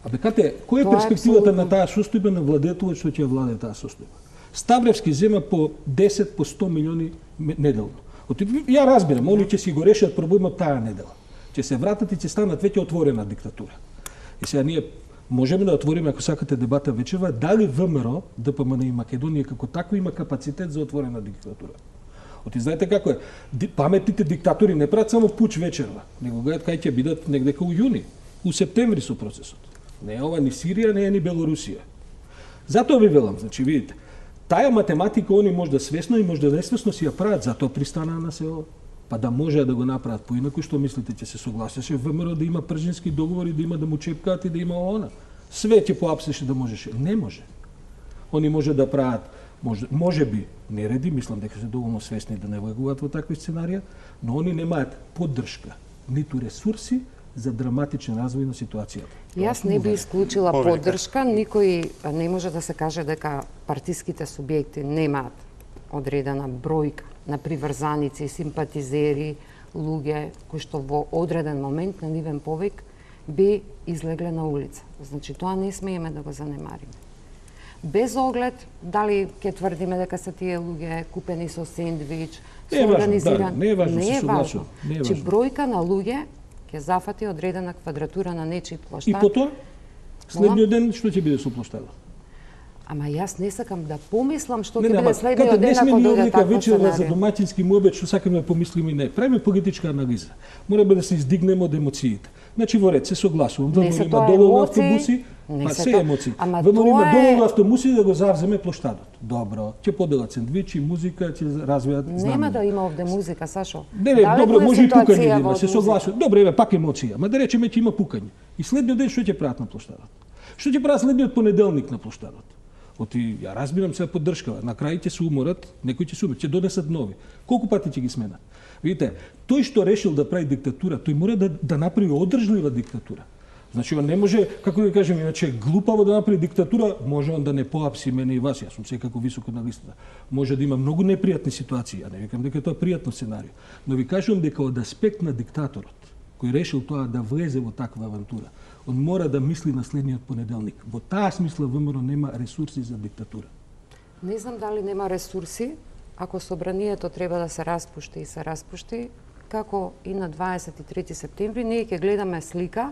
Абе кате, која е перспективата на таа состојба на владетелот што ќе владее таа состојба? Ставревски зема по десет по сто милиони неделно. Ја разбирам, они ќе си го решат проблемот таа недела. Ќе се вратат и ќе станат веќе отворена диктатура. И сега ние можеме да отвориме, ако сакате дебата вечерва, дали ВМРО, ДПМН и Македонија како такво има капацитет за отворена диктатура. Оти знаете како е, паметните диктатори не прават само пуч вечерва, него гледат кај ќе бидат негде кај јуни, у септември со процесот. Не е ова ни Сирија, не е ни Белорусија. Затоа ви велам, значи видите, таа математика они може да свесно и може да несвесно си ја прават, затоа пристанаа на се ова. Па да може да го направат поинаку, што мислите ќе се согласеше ВМРО да има Пржински договори, да има да му чепкаат и да има она. Све ќе поапсеше да можеше. Не може. Они може да прават, може, може би нереди, мислам дека се доволно свесни да не влегуваат во такви сценарија, но они немаат поддршка, ниту ресурси за драматичен развој на ситуацијата. Јас не би исклучила поддршка, никој не може да се каже дека партиските субјекти немаат одредена бројка на приврзаници, симпатизери, луѓе кои што во одреден момент на нивен повик би излегле на улица. Значи, тоа не смееме да го занемариме. Без оглед дали ќе тврдиме дека се тие луѓе купени со сендвич, Не е со важно, организиран... да, не е важно, не се е согласувам, важно. не е Значи, важно. бројка на луѓе ќе зафати одредена квадратура на нечи плоштад. И потоа, следниот ден, што ќе биде со плоштадот? Ама јас не сакам да помислам што Не, ќе не, биде ама, следниот кате, не ден сме ако ни дојде овдека таква вечерва за сценарија. домаќински муабет што сакаме да помислиме и не. Правиме политичка анализа. Мораме да се издигнеме од емоциите. Значи во ред се согласувам. Не ВМРО се има тоа доволно емоции, автобуси, не па се се тоа- емоции. ама ВМРО има тоа е- доволно автобуси да го завземе плоштадот. Добро, ќе поделат сендвичи, музика, ќе развијат Нема знамена. да има овде музика, Сашо. Не, не, Далеко добро, е може и пукање ситуација да има, во се музика. согласувам. Добро, еве пак емоција, ма да речеме ќе има пукање. И следниот ден што ќе прават на плоштадот? Што ќе прават следниот понеделник на плоштадот? Оти, ја разбирам се поддршкава, на крај ќе се уморат, некои ќе се уморат, ќе донесат нови. Колку пати ќе ги сменат? Видите, тој што решил да прави диктатура, тој мора да, да направи одржлива диктатура. Значи, он не може, како да кажем, иначе глупаво да направи диктатура, може он да не поапси мене и вас, јас сум секако високо на листата. Може да има многу непријатни ситуации, а не викам дека тоа е пријатно сценарио. Но ви кажувам дека од аспект на диктаторот, кој решил тоа да влезе во таква авантура, он мора да мисли на следниот понеделник. Во таа смисла ВМРО нема ресурси за диктатура. Не знам дали нема ресурси, ако собранието треба да се распушти и се распушти, како и на дваесет и трети септември, ние ќе гледаме слика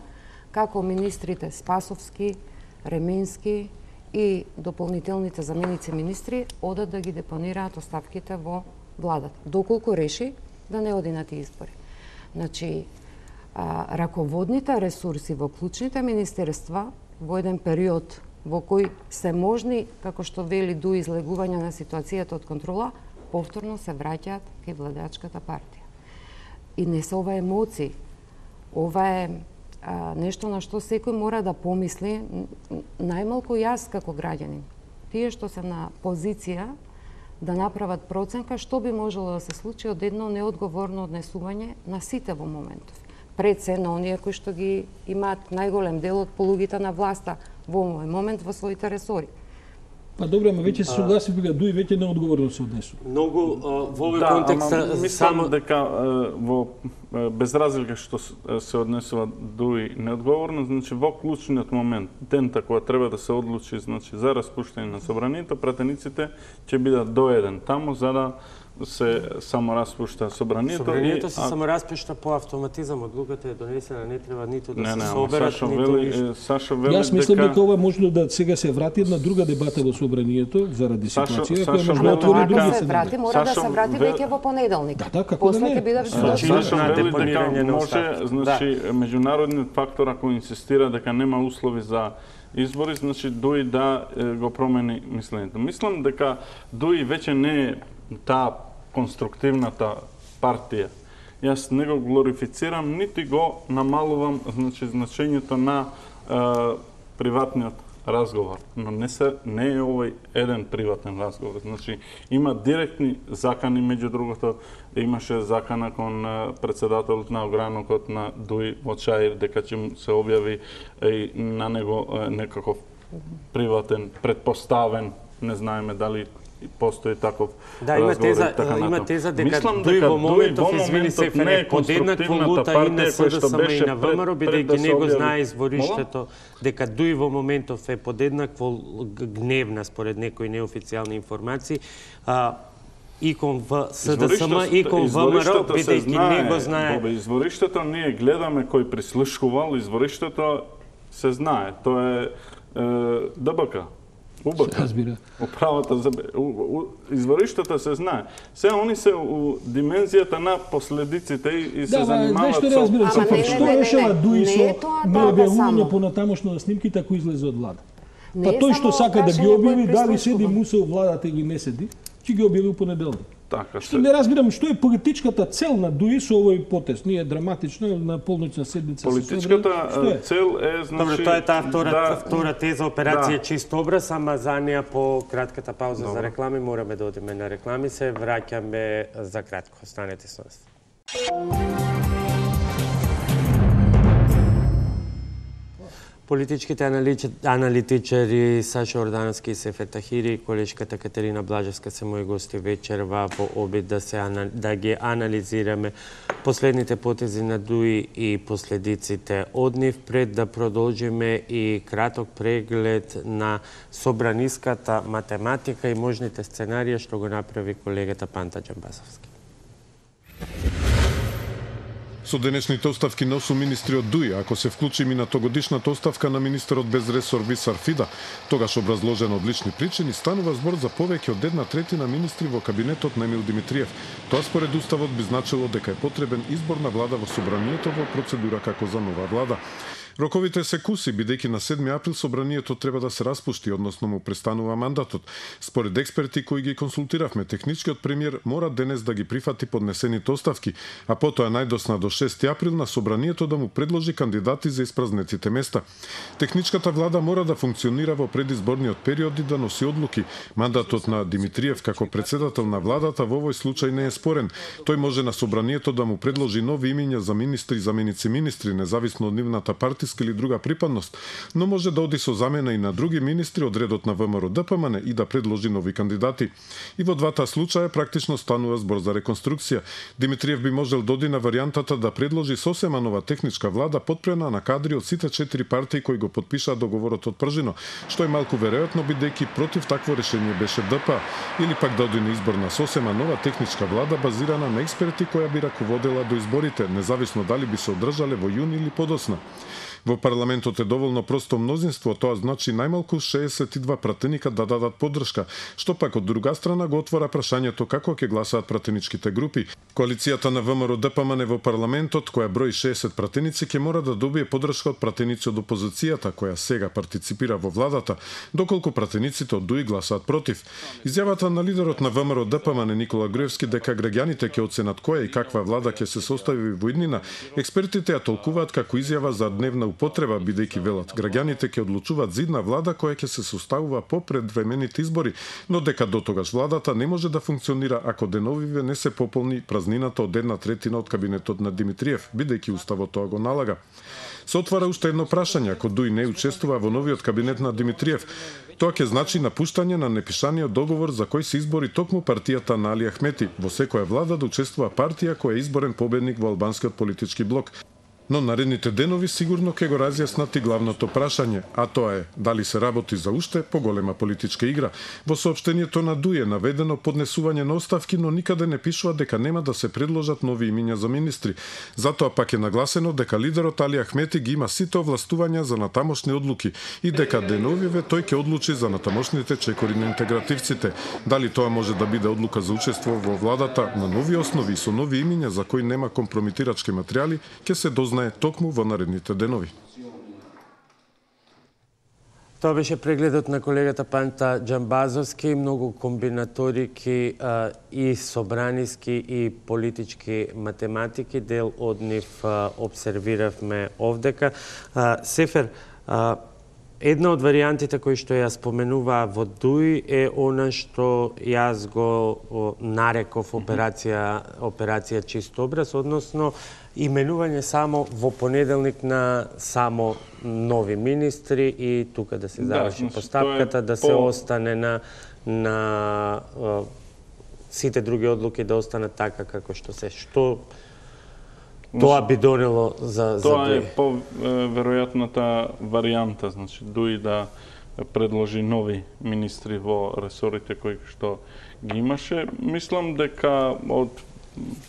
како министрите Спасовски, Ременски и дополнителните заменици министри одат да ги депонираат оставките во владата, доколку реши да не оди на тие избори. Значи, а, раководните ресурси во клучните министерства во еден период во кој се можни, како што вели, до излегување на ситуацијата од контрола, повторно се враќаат кај владеачката партија. И не се ова емоции, ова е а, нешто на што секој мора да помисли, најмалку јас како граѓанин. Тие што се на позиција да направат проценка што би можело да се случи од едно неодговорно однесување на сите во моментов. Пред се на оние кои што ги имаат најголем дел од полугите на власта во овој момент во своите ресори. Па добро, ама веќе се согласи дека Дуј веќе неодговорно се однесува. Многу а, во овој Да, контекст ама мислам само дека е, во е, без разлика што с- е, се однесува Дуј неодговорно, значи во клучниот момент, дента кога треба да се одлучи значи за распуштање на собранието, пратениците ќе бидат до еден таму за да се само распушта собранието. собранието и- се а- само распишта по автоматизам, одлуката е донесена, не треба ниту да Не, се не, ама соберат, Сашо ниту вели, ништо. е, Сашо вели Јас мислам дека дека ова можно да сега се врати една друга дебата во собранието заради Сашо- ситуација, Сашо која може да вели отвори Ама други ако се сценари. врати, мора да Сашо се врати ве- веќе во понеделник. Да, да, како После да не. ќе биде Значи, веќе Сашо на вели дека депонирање на може, оставки. значи, меѓународниот фактор ако инсистира дека нема услови за избори, значи Дуј да е, го промени мислењето. Мислам дека Дуј веќе не е таа конструктивната партија. Јас не го глорифицирам, нити го намалувам значи, значењето на е, приватниот разговор, но не се не е овој еден приватен разговор. Значи има директни закани, меѓу другото имаше закана кон е, председателот на огранокот на Дуј во Чаир дека ќе му се објави и на него е, некаков приватен предпоставен, не знаеме дали постои таков Да, има разговор и теза, така има натаму. теза дека Мислам Дуј дека во моментов, Дуј во извини моментов Сефере, не е подеднакво конструктивната лута и на партија која што СДСМ и беше на пред- ВМРО, пред бидејќи да се него објави. знае извориштето, дека Дуј во моментов е подеднакво гневна според некои неофицијални информации, а, и кон в СДСМ и кон ВМРО, Извориштето се бидејќи него знае. Бобе, извориштето ние гледаме кој прислушкувал, извориштето се знае. Тоа е, е ДБК. УБК. Разбира. Управата за у, у, извориштето се знае. Се они се у димензијата на последиците и, и се Да, ма, знаеш занимаваат што не со разбирам, Ама Сефер, не, не, што не, не, решава не. Дуј Не со е тоа така необјавување само. понатамошно на снимките ако излезе од влада? Не Па е тој само што сака да ги прашање објави, кој дали седи прислушува. Муса у владата или не седи, ќе ги објави у понеделник. така Што не разбирам што е политичката цел на Дуј со овој потез. Ние драматично на полноќна седница се Политичката собрали. Што е? цел е значи Добро, тоа е таа втора, да, втора теза, операција да. чист образ, ама за неа по кратката пауза Добро. за реклами мораме да одиме на реклами, се враќаме за кратко. Останете со нас. Политичките аналитичари Саша Ордановски и Сефер Тахири и колешката Катерина Блажевска се мои гости вечерва во обид да се да ги анализираме последните потези на ДУИ и последиците од нив, пред да продолжиме и краток преглед на собраниската математика и можните сценарија што го направи колегата Панта Џамбазовски. Со денешните оставки на осум министри од ДУИ, ако се вклучи минатогодишната оставка на министерот без ресор Висар Фида, тогаш образложено од лични причини, станува збор за повеќе од една третина министри во кабинетот на Емил Димитриев. Тоа според уставот би значило дека е потребен избор на влада во собранието во процедура како за нова влада. Роковите се куси, бидејќи на седми април собранието треба да се распушти, односно му престанува мандатот. Според експерти кои ги консултиравме, техничкиот премиер мора денес да ги прифати поднесените оставки, а потоа најдосна до шести април на собранието да му предложи кандидати за испразнетите места. Техничката влада мора да функционира во предизборниот период и да носи одлуки. Мандатот на Димитриев како председател на владата во овој случај не е спорен. Тој може на собранието да му предложи нови имиња за министри и заменици министри, независно од нивната партиска или друга припадност, но може да оди со замена и на други министри од редот на ВМРО Д П М Н и да предложи нови кандидати. И во двата случаја практично станува збор за реконструкција. Димитриев би можел да оди на варијантата да предложи сосема нова техничка влада подпрена на кадри од сите четири партии кои го потпишаа договорот од Пржино, што е малку веројатно бидејќи против такво решение беше Д П, или пак да оди на избор на сосема нова техничка влада базирана на експерти која би раководела до изборите, независно дали би се одржале во јуни или подосна. Во парламентот е доволно просто мнозинство, тоа значи најмалку шеесет и два пратеника да дадат поддршка, што пак од друга страна го отвора прашањето како ќе гласаат пратеничките групи. Коалицијата на ВМРО Д П М Н во парламентот, која брои шеесет пратеници, ќе мора да добие поддршка од пратеници од опозицијата, која сега партиципира во владата, доколку пратениците од ДУИ гласаат против. Изјавата на лидерот на ВМРО Д П М Н Никола Груевски дека граѓаните ќе оценат која и каква влада ќе се состави во иднина, експертите ја толкуваат како изјава за дневна употреба, бидејќи велат граѓаните ќе одлучуваат за идна влада која ќе се составува по предвремените избори, но дека дотогаш владата не може да функционира ако деновиве не се пополни празнината од една третина од кабинетот на Димитриев, бидејќи уставот тоа го налага. Се отвара уште едно прашање, ако ДУИ не учествува во новиот кабинет на Димитриев. Тоа ќе значи напуштање на непишаниот договор за кој се избори токму партијата на Али Ахмети, во секоја влада да учествува партија која е изборен победник во албанскиот политички блок. Но наредните денови сигурно ќе го разјаснат и главното прашање, а тоа е дали се работи за уште поголема политичка игра. Во соопштението на ДУИ е наведено поднесување на оставки, но никаде не пишува дека нема да се предложат нови имиња за министри. Затоа пак е нагласено дека лидерот Али Ахмети ги има сите овластувања за натамошни одлуки и дека деновиве тој ќе одлучи за натамошните чекори на интегративците. Дали тоа може да биде одлука за учество во владата на нови основи и со нови имиња за кои нема компрометирачки материјали, ќе се дознае токму во наредните денови. Тоа беше прегледот на колегата Панта Џамбазовски, многу комбинаторики а, и собраниски и политички математики, дел од нив а, обсервиравме овдека. А, Сефер, а, една од варијантите кои што ја споменува во ДУИ е она што јас го нареков операција, операција чист образ, односно именување само во понеделник на само нови министри и тука да се заврши да, постапката, да се по... остане на, на а, сите други одлуки да останат така како што се. Што тоа би донело за, за Тоа ДУИ? е по веројатната варијанта, значи ДУИ да предложи нови министри во ресорите кои што ги имаше. Мислам дека од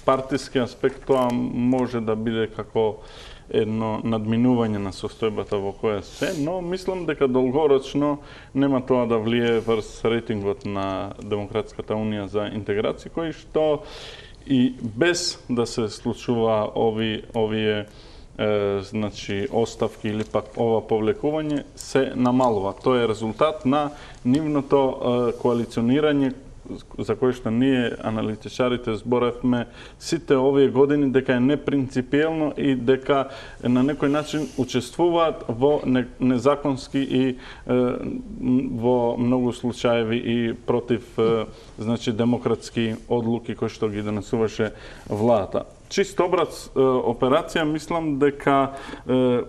партиски аспект тоа може да биде како едно надминување на состојбата во која се, но мислам дека долгорочно нема тоа да влие врз рейтингот на Демократската унија за интеграција, кој што и без да се случува ови, овие е, значи, оставки или пак ова повлекување, се намалува. Тоа е резултат на нивното е, коалиционирање за кој што ние, аналитичарите, зборавме сите овие години дека е непринципиелно и дека на некој начин учествуваат во незаконски и е, во многу случаеви и против е, значи демократски одлуки кои што ги донесуваше владата. Чист образ е, операција, мислам дека е,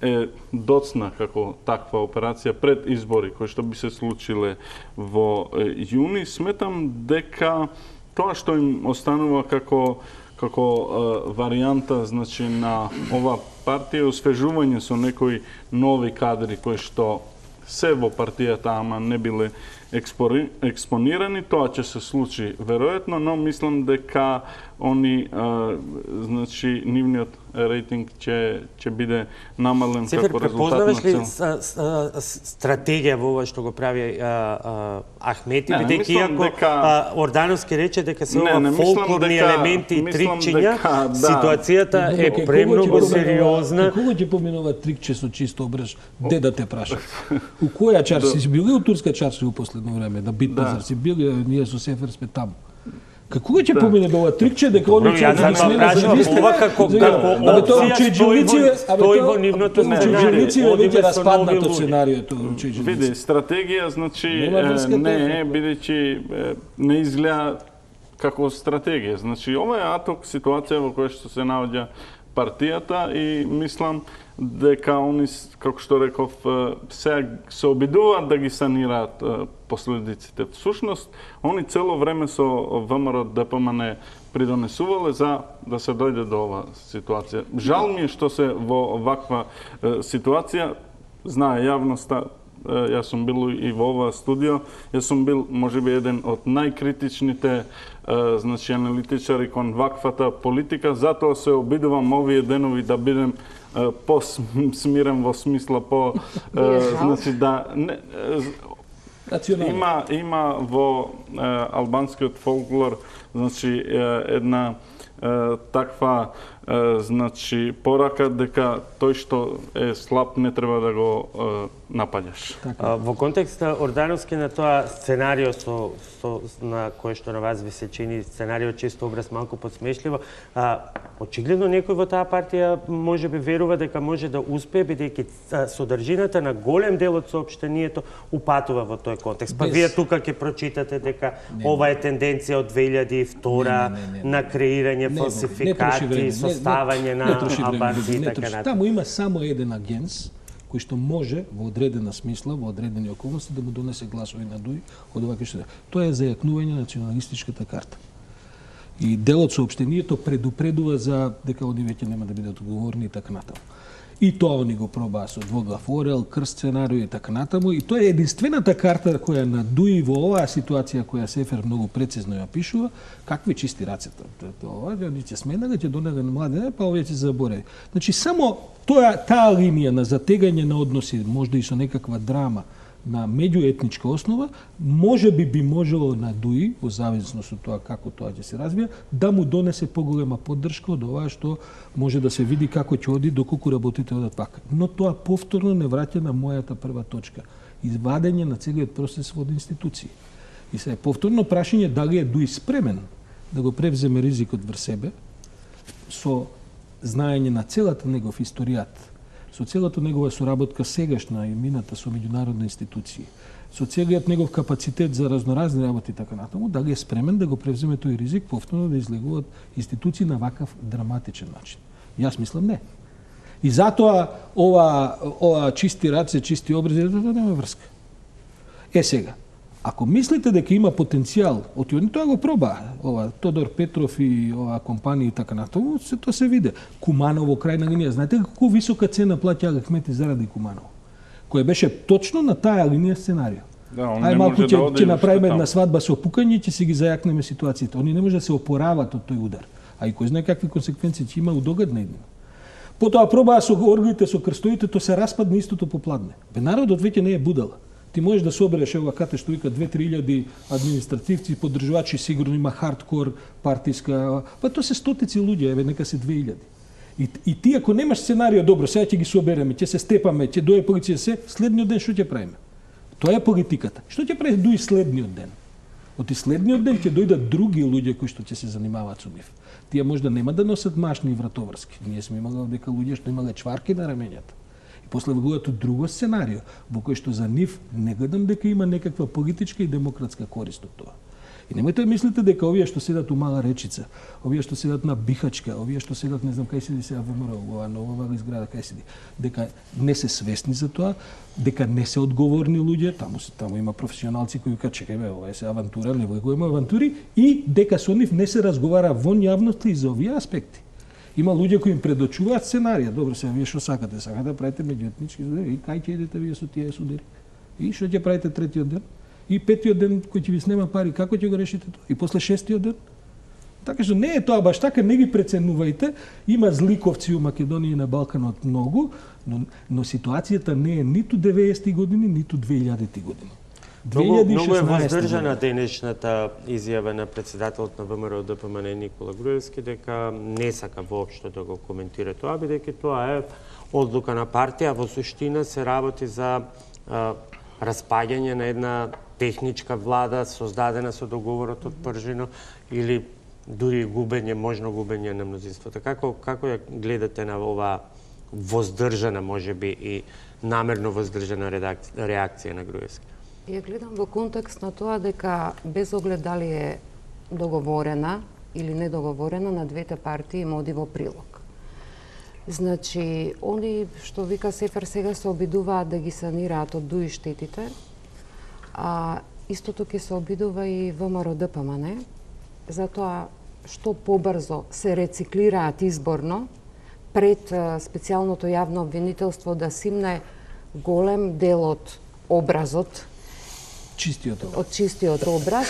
е доцна како таква операција пред избори кои што би се случиле во јуни, сметам дека тоа што им останува како како е, варијанта, значи, на ова партија освежување со некои нови кадри кои што се во партијата, ама не биле експори, експонирани, тоа ќе се случи веројатно, но мислам дека они, а, значи, нивниот рейтинг ќе ќе биде намален Цифер, како резултат на препознаваш ли цел. с- с- с- стратегија во ова што го прави а, а, Ахмети, Не, бидејќи мислам иако дека- а, Ордановски рече дека се Не, ова не, мислам фолклорни дека- елементи и мислам трикчиња, дека, да. ситуацијата е Кај премногу кого ќе поминува- сериозна. кај Кого ќе поминува трикче со чисто ображ? Де да те праша? У која чарши си бил? И у турска чарши у последно време, на Бит пазар си бил, ние со Сефер сме таму. Како кога ќе помине до ова трикче дека они Добро, јас ќе затоа прашувам, ова како како Абе тоа опција Чејџевици, стои во- абе стои тоа- во нивното тоа сценарио. Чејџевици е Одиме веќе со распаднато нови луѓе. сценариото Чејџевици. Види, стратегија, значи, Нема врска е, не тоа. е, бидејќи е, не изгледа како стратегија. Значи, ова е аток ситуација во која што се наоѓа партијата и мислам дека они, с- како што реков, е, сега се обидуваат да ги санираат е, последиците. Всушност, они цело време со ВМРО Д П М Н придонесувале за да се дојде до ова ситуација. Жал ми е што се во ваква е, ситуација, знае јавноста, е, јас сум бил и во ова студио, јас сум бил можеби еден од најкритичните е, значи аналитичари кон ваквата политика, затоа се обидувам овие денови да бидем е, по-смирен во смисла по Ви е е, жал? значи да не е, Национално. има има во е, албанскиот фолклор, значи е, една е, таква е, значи порака дека тој што е слаб не треба да го е, напаѓаш. А, Во контекст Ордановски на тоа сценарио со, со на кое што на вас ви се чини сценарио чисто образ малку подсмешливо, а, очигледно некој во таа партија можеби верува дека може да успее бидејќи а, содржината на голем дел од соопштението упатува во тој контекст. Па Без- вие тука ќе прочитате дека ова е тенденција од две илјади и втора Не, не, не, не, не. на креирање Не, не фалсификати, троши време, не- составање не на троши време, албанци и не така троши. натаму. Таму има само еден агенс кој што може во одредена смисла, во одредени околности да му донесе гласови на Дуј од ова што тоа е зајакнување на националистичката карта. И дел од соопштението предупредува за дека они веќе нема да бидат одговорни и така натаму. И тоа они го пробаа со двоглав орел, крст сценарио и така натаму. И тоа е единствената карта која на Дуи во оваа ситуација која Сефер многу прецизно ја пишува, какви чисти рацете. Ова они ќе сменага, ќе донега на младене, па овие ќе се заборави. Значи само тоа таа линија на затегање на односи, можда и со некаква драма на меѓуетничка основа, може би би можело на Дуи, во зависност од тоа како тоа ќе се развија, да му донесе поголема поддршка од ова што може да се види како ќе оди доколку работите одат пака. Но тоа повторно не враќа на мојата прва точка. Извадење на целиот процес од институции. И се повторно прашање дали е Дуи спремен да го превземе ризикот врз себе со знаење на целата негов историјат, со целата негова соработка сегашна и мината со меѓународни институции, со целиот негов капацитет за разноразни работи и така натаму, дали е спремен да го превземе тој ризик повторно да излегуваат институции на вакав драматичен начин. Јас мислам не. И затоа ова, ова чисти раце, чисти образи, тоа нема врска. Е сега, ако мислите дека има потенцијал, од они тоа го проба, ова Тодор Петров и ова компанија и така натаму, се тоа се виде. Куманово крајна линија, знаете колку висока цена плаќа Ахмети заради Куманово, која беше точно на таа линија сценарио. Да, он Ај не малку може ќе да оди ќе направиме уште една таму. свадба со пукање, ќе си ги зајакнеме ситуацијата. Они не може да се опорават од тој удар. А и кој знае какви консеквенции ќе има у догадна иднина. Потоа пробаа со оргите, со крстовите, тоа се распадна истото попладне. Бе народот веќе не е будала. Ти можеш да собереш ова кате што вика две-три илјади административци, поддржувачи, сигурно има хардкор партиска, па тоа се стотици луѓе, еве нека се две илјади. И, и ти ако немаш сценарио, добро, сега ќе ги собереме, ќе се степаме, ќе дое полиција се, следниот ден што ќе правиме? Тоа е политиката. Што ќе прави дуи следниот ден? Оти следниот ден ќе дојдат други луѓе кои што ќе се занимаваат со нив. Тие можда нема да носат машни и вратоврски. Ние сме имали дека луѓе што имале чварки на рамењата. И после влегуваат од друго сценарио, во кој што за нив не гледам дека има некаква политичка и демократска корист од тоа. И немојте да мислите дека овие што седат у Мала Речица, овие што седат на Бихачка, овие што седат не знам кај седи сега ВМРО, ова нова изграда кај седи, дека не се свесни за тоа, дека не се одговорни луѓе, таму таму има професионалци кои кажат чекај бе, ова е се авантура, не влегуваме авантури, и дека со нив не се разговара во јавноста и за овие аспекти. Има луѓе кои им предочуваат сценарија. Добро, сега вие што сакате? Сакате да правите меѓуетнички судири? И кај ќе идете вие со тие судири? И што ќе правите третиот ден? И петиот ден кој ќе ви снема пари, како ќе го решите тоа? И после шестиот ден? Така што не е тоа баш така, не ги преценувајте. Има зликовци у Македонија и на Балканот многу, но, но ситуацијата не е ниту деветдесетти години, ниту две илјадити години. Многу, многу е воздржана денешната изјава на председателот на ВМРО Д П М Н Никола Груевски дека не сака воопшто да го коментира тоа, бидејќи тоа е одлука на партија, во суштина се работи за а, распаѓање на една техничка влада создадена со договорот од Пржино или дури губење, можно губење на мнозинството. Како како ја гледате на ова воздржана, можеби и намерно воздржана реакција на Груевски? Ја гледам во контекст на тоа дека без оглед дали е договорена или недоговорена, на двете партии им оди во прилог. Значи, они што вика Сефер сега се обидуваат да ги санираат од дуи штетите, а истото ќе се обидува и ВМРО Д П М Н, затоа што побрзо се рециклираат изборно пред специјалното јавно обвинителство да симне голем дел од образот, чистиот образ. Од чистиот образ.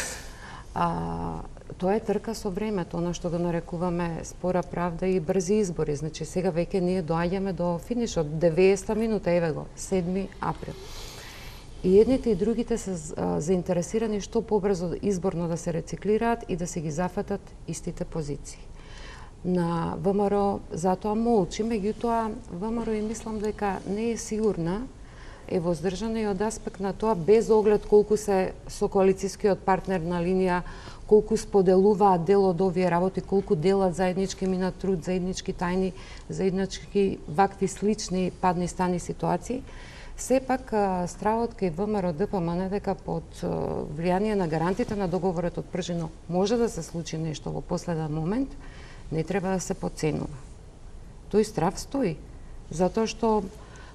А, тоа е трка со времето, она што го нарекуваме спора правда и брзи избори. Значи сега веќе ние доаѓаме до финишот, деветдесета минута, еве го, седми април. И едните и другите се а, заинтересирани што побрзо изборно да се рециклираат и да се ги зафатат истите позиции. На ВМРО затоа молчи, меѓутоа ВМРО и мислам дека не е сигурна, е воздржана и од аспект на тоа, без оглед колку се со коалицијскиот партнер на линија, колку споделуваат дел од овие работи, колку делат заеднички минат труд, заеднички тајни, заеднички вакви слични падни стани ситуации. Сепак стравот кај ВМРО Д П М Н дека под влијание на гарантите на договорот од Пржино може да се случи нешто во последен момент, не треба да се подценува. Тој страв стои, затоа што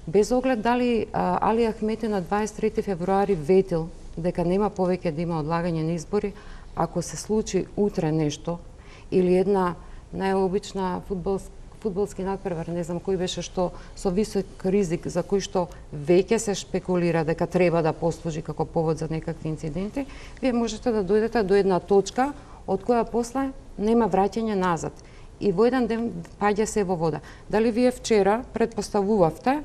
без оглед дали а, Али Ахмети на дваесет и трети февруари ветил дека нема повеќе да има одлагање на избори, ако се случи утре нешто или една најобична фудбалска фудбалски надпревар, не знам кој беше, што со висок ризик за кој што веќе се шпекулира дека треба да послужи како повод за некакви инциденти, вие можете да дојдете до една точка од која после нема враќање назад. И во еден ден паѓа се во вода. Дали вие вчера предпоставувавте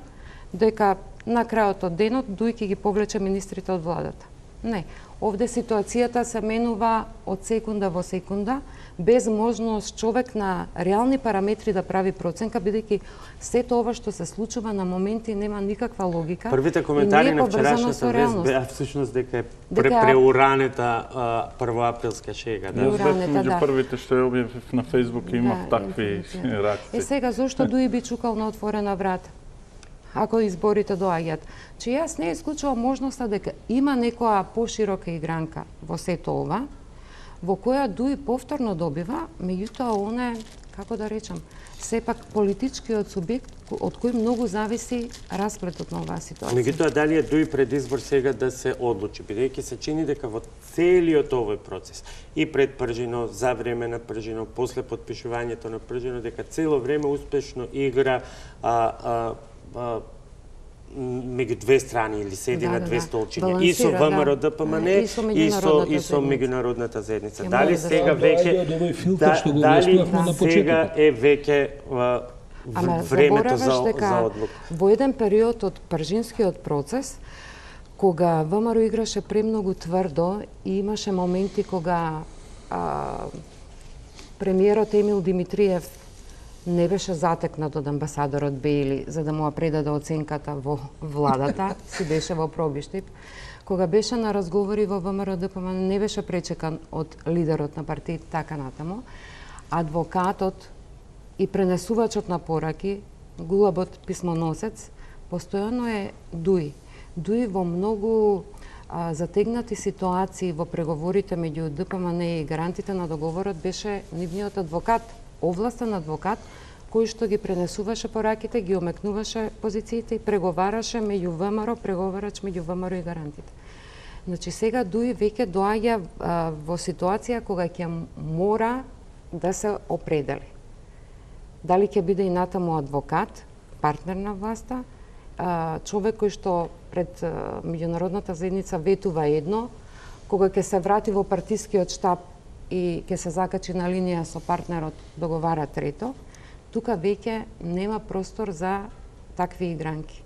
дека на крајот од денот Дуј ќе ги повлече министрите од владата? Не. Овде ситуацијата се менува од секунда во секунда, без можност човек на реални параметри да прави проценка, бидејќи сето ова што се случува на моменти нема никаква логика. Првите коментари на вчерашната вест беа всушност дека е преуранета првоаприлска шега. Да, меѓу да. Првите што ја објавив на Фејсбук имав да, такви реакции. Е сега зошто Дуј би чукал на отворена врата? Ако изборите доаѓаат. Че јас не исклучувам можноста дека има некоја поширока игранка во сето ова, во која Дуј повторно добива, меѓутоа он е, како да речам, сепак политичкиот субјект од кој многу зависи расплетот на оваа ситуација. Меѓутоа дали е Дуј пред избор сега да се одлучи, бидејќи се чини дека во целиот овој процес и пред Пржино, за време на Пржино, после потпишувањето на Пржино, дека цело време успешно игра а, а, меѓу две страни или седи да, на две да, столчиња, и со ВМРО Д П М Н и со и со, и со меѓународната заедница. Ја дали сега веќе да, дали сега е веќе времето за за одлука? Во еден период од пржинскиот процес, кога ВМРО играше премногу тврдо и имаше моменти кога а, премиерот Емил Димитриев не беше затекнат од амбасадорот Бејли за да му ја предаде оценката во владата, си беше во пробиштип. Кога беше на разговори во ВМРО Д П М Н, не беше пречекан од лидерот на партијата така натаму. Адвокатот и пренесувачот на пораки, гулабот писмоносец, постојано е Дуј. Дуј во многу а, затегнати ситуации во преговорите меѓу Д П М Н и гарантите на договорот беше нивниот адвокат, овластен адвокат, кој што ги пренесуваше пораките, ги омекнуваше позициите и преговараше меѓу В М Р, преговарач меѓу В М Р и гарантите. Значи сега ДУИ веќе доаѓа а, во ситуација кога ќе мора да се определи. Дали ќе биде и натаму адвокат, партнер на власта, а, човек кој што пред а, меѓународната заедница ветува едно, кога ќе се врати во партискиот штаб и ќе се закачи на линија со партнерот договара трето, тука веќе нема простор за такви игранки.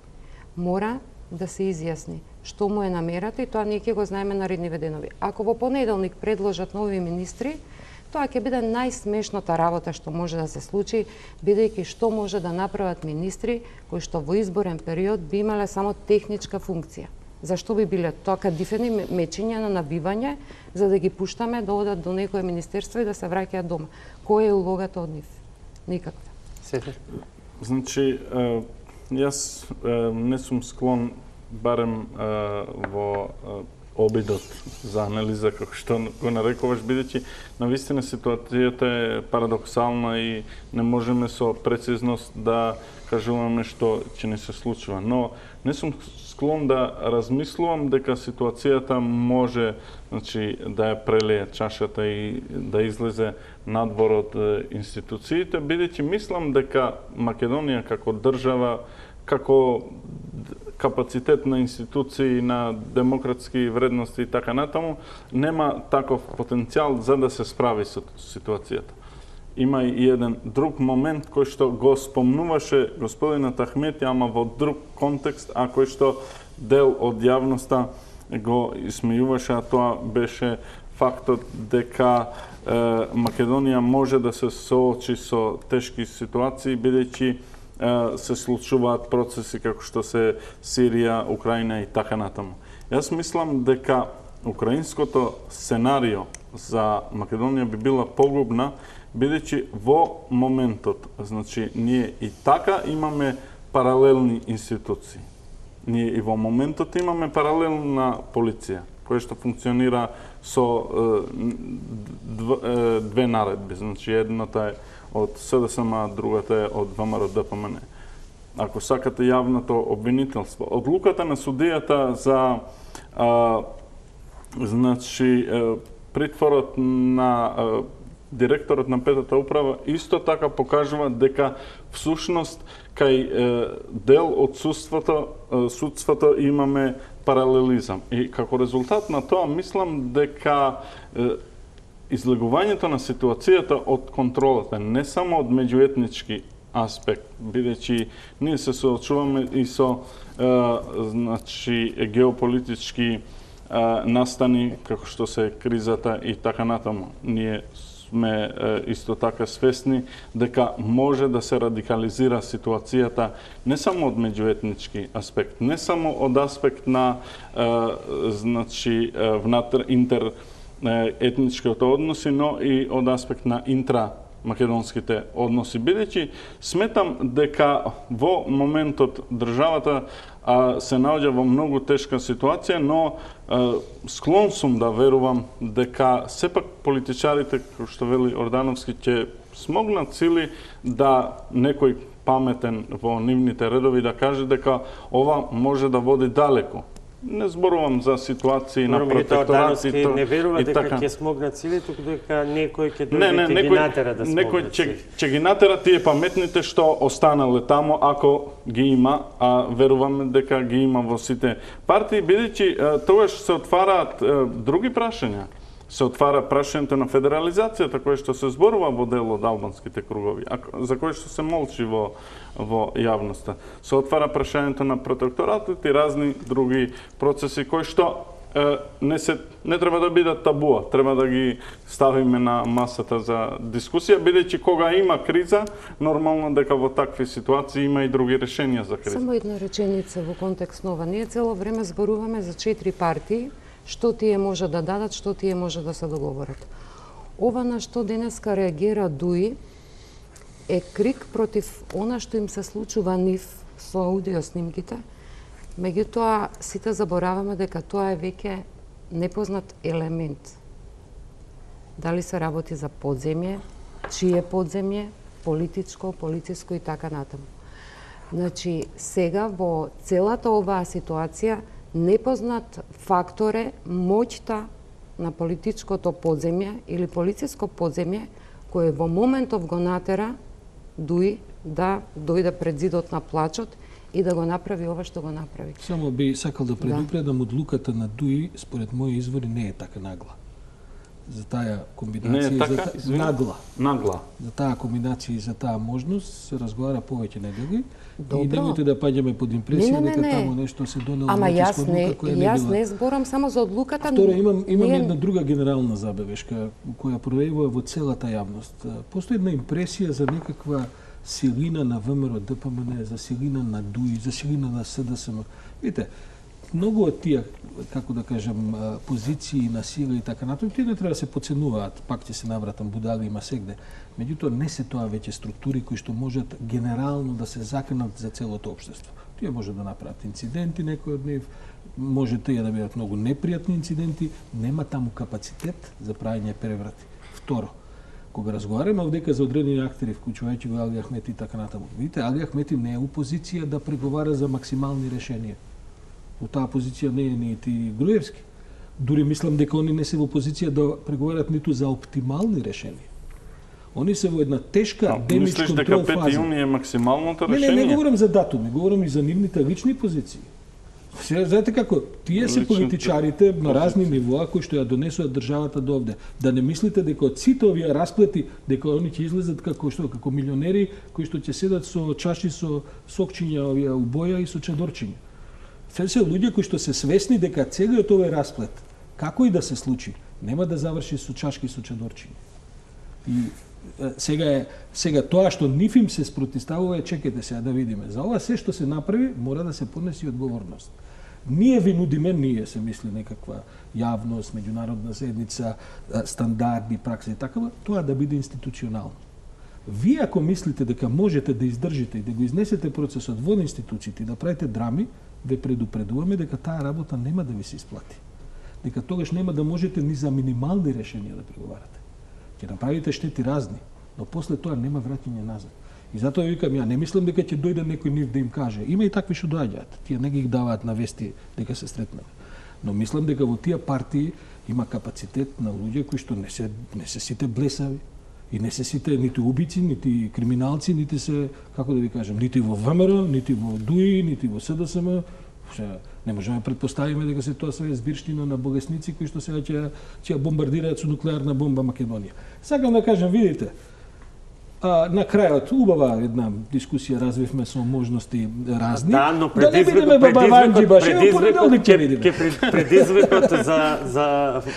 Мора да се изјасни што му е намерата и тоа ние ќе го знаеме наредниве денови. Ако во понеделник предложат нови министри, тоа ќе биде најсмешната работа што може да се случи, бидејќи што може да направат министри кои што во изборен период би имале само техничка функција. Зашто би биле тоа кадифени мечења на набивање за да ги пуштаме да одат до некое министерство и да се враќаат дома? Која е улогата од нив? Никаква. Сефер? Значи, е, јас е, не сум склон барем е, во е, обидот за анализа, како што го нарекуваш, бидејќи навистина ситуацијата е парадоксална и не можеме со прецизност да кажуваме што ќе не се случува. Но не сум склон да размислувам дека ситуацијата може, значи, да ја прелее чашата и да излезе надвор од институциите, бидејќи мислам дека Македонија како држава, како капацитет на институции, на демократски вредности и така натаму, нема таков потенцијал за да се справи со ситуацијата. Има и еден друг момент кој што го спомнуваше господинот Ахмети, ама во друг контекст, а кој што дел од јавноста го исмејуваше, а тоа беше фактот дека е, Македонија може да се соочи со тешки ситуации, бидејќи се случуваат процеси како што се Сирија, Украина и така натаму. Јас мислам дека украинското сценарио за Македонија би била погубна, бидејќи во моментот, значи, ние и така имаме паралелни институции. Ние и во моментот имаме паралелна полиција, која што функционира со е, две наредби. Значи, едната е од С Д С М, другата е од В М Р Д П М Н. Ако сакате јавното обвинителство, одлуката на судијата за а, значи притворот на а, директорот на петата управа исто така покажува дека всушност кај е, дел од судството, е, судството имаме паралелизам. И како резултат на тоа мислам дека е, излегувањето на ситуацијата од контролата, не само од меѓуетнички аспект, бидејќи ние се соочуваме и со е, значи геополитички е, настани како што се кризата и така натаму. Ние сме е, исто така свесни дека може да се радикализира ситуацијата не само од меѓуетнички аспект, не само од аспект на е, значи е, внатр интер етничките односи, но и од аспект на интрамакедонските односи. Бидејќи сметам дека во моментот државата а, се наоѓа во многу тешка ситуација, но а, склон сум да верувам дека сепак политичарите, како што вели Ордановски, ќе смогнат сили да некој паметен во нивните редови да каже дека ова може да води далеко. Не зборувам за ситуации на протекторат и не верува дека така. ќе смогнат сили, туку дека некој ќе Не, не, дојде и ги натера да смогнат некој ќе сили. ќе ги натера тие паметните што останале таму, ако ги има, а веруваме дека ги има во сите партии, бидејќи тогаш се отвараат е, други прашања. Се отвара прашањето на федерализацијата, кое што се зборува во дел од албанските кругови, а за кое што се молчи во, во јавноста. Се отвара прашањето на протекторатот и разни други процеси кои што е, не, се, не треба да бидат табуа, треба да ги ставиме на масата за дискусија, бидејќи кога има криза, нормално дека во такви ситуации има и други решенија за криза. Само една реченица во контекст нова. Ние цело време зборуваме за четири партии, што тие може да дадат, што тие може да се договорат. Ова на што денеска реагира ДУИ е крик против она што им се случува нив со аудиоснимките, Меѓутоа, сите забораваме дека тоа е веќе непознат елемент. Дали се работи за подземје, чие подземје, политичко, полициско и така натаму. Значи, сега во целата оваа ситуација непознат фактор е моќта на политичкото подземје или полициско подземје кој во моментов го натера Дуи да дојде пред зидот на плачот и да го направи ова што го направи. Само би сакал да предупредам, да. Одлуката на Дуи, според мои извори, не е така нагла. За таа комбинација не е така, за та... нагла. Нагла. За таа комбинација и за таа можност се разговара повеќе недели. Добро. И немојте да паѓаме под импресија не, не, дека не. таму нешто се донело. Ама јас не, која јас не, не зборам само за одлуката. Второ, имам, имам ние... една друга генерална забелешка која проявува во целата јавност. Постои една импресија за некаква силина на ВМРО ДПМН, за силина на Дуи, за силина на СДСМ. Видите, многу од тие, како да кажам, позиции на сила и така натаму, тие не треба да се подценуваат, пак ќе се навратам, будали има сегде. Меѓутоа, не се тоа веќе структури кои што можат генерално да се заканат за целото општество. Тие може да направат инциденти, некои од нив, може тие да бидат многу непријатни инциденти, нема таму капацитет за правење преврати. Второ, кога разговараме овдека за одредени актери, вклучувајќи го Али Ахмети и така натаму, видите, Али Ахмети не е у позиција да преговара за максимални решенија. Во таа позиција не е нити Груевски. Дури мислам дека они не се во позиција да преговарат ниту за оптимални решенија. Они се во една тешка демидж контрол фаза. Мислиш дека пет јуни е максималното решение? Не, не, не говорам за датуми, говорам и за нивните лични позиции. Сега, знаете како, тие се политичарите на разни нивоа кои што ја донесуваат државата до овде. Да не мислите дека од сите овие расплети, дека они ќе излезат како што, како милионери кои што ќе седат со чаши со сокчиња овие убоја и со чадорчиња. Се се луѓе кои што се свесни дека целиот овој расплет, како и да се случи, нема да заврши со чашки со чадорчиња. И сега е сега тоа што нив им се спротивставува е, чекайте сега да видиме. За ова се што се направи мора да се понеси одговорност. Ние ви нудиме, ние се мисли некаква јавност, меѓународна заедница, стандарди, пракса и такава, тоа да биде институционално. Вие ако мислите дека можете да издржите и да го изнесете процесот во институциите и да правите драми, ве предупредуваме дека таа работа нема да ви се исплати. Дека тогаш нема да можете ни за минимални решенија да преговарате. Ќе направите штети разни, но после тоа нема враќање назад. И затоа викам, ја не мислам дека ќе дојде некој нив да им каже. Има и такви што доаѓаат. Тие не ги даваат на вести дека се сретнале. Но мислам дека во тие партии има капацитет на луѓе кои што не се не се сите блесави и не се сите нити убици, нити криминалци, нити се, како да ви кажам, нити во ВМРО, нити во Дуи, нити во СДСМ. Не можеме да предпоставиме дека се тоа се збирштина на болесници кои што сега ќе ќе бомбардираат со нуклеарна бомба Македонија. Сакам да кажам, видите, а, на крајот убава една дискусија развивме со можности разни. Да, но да не бидеме бабаванџи баш, ево понеделник ќе видиме. Предизвикот за за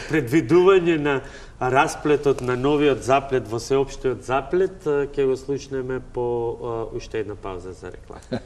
предвидување на расплетот на новиот заплет во сеопштиот заплет ќе го слушнеме по уште една пауза за реклама.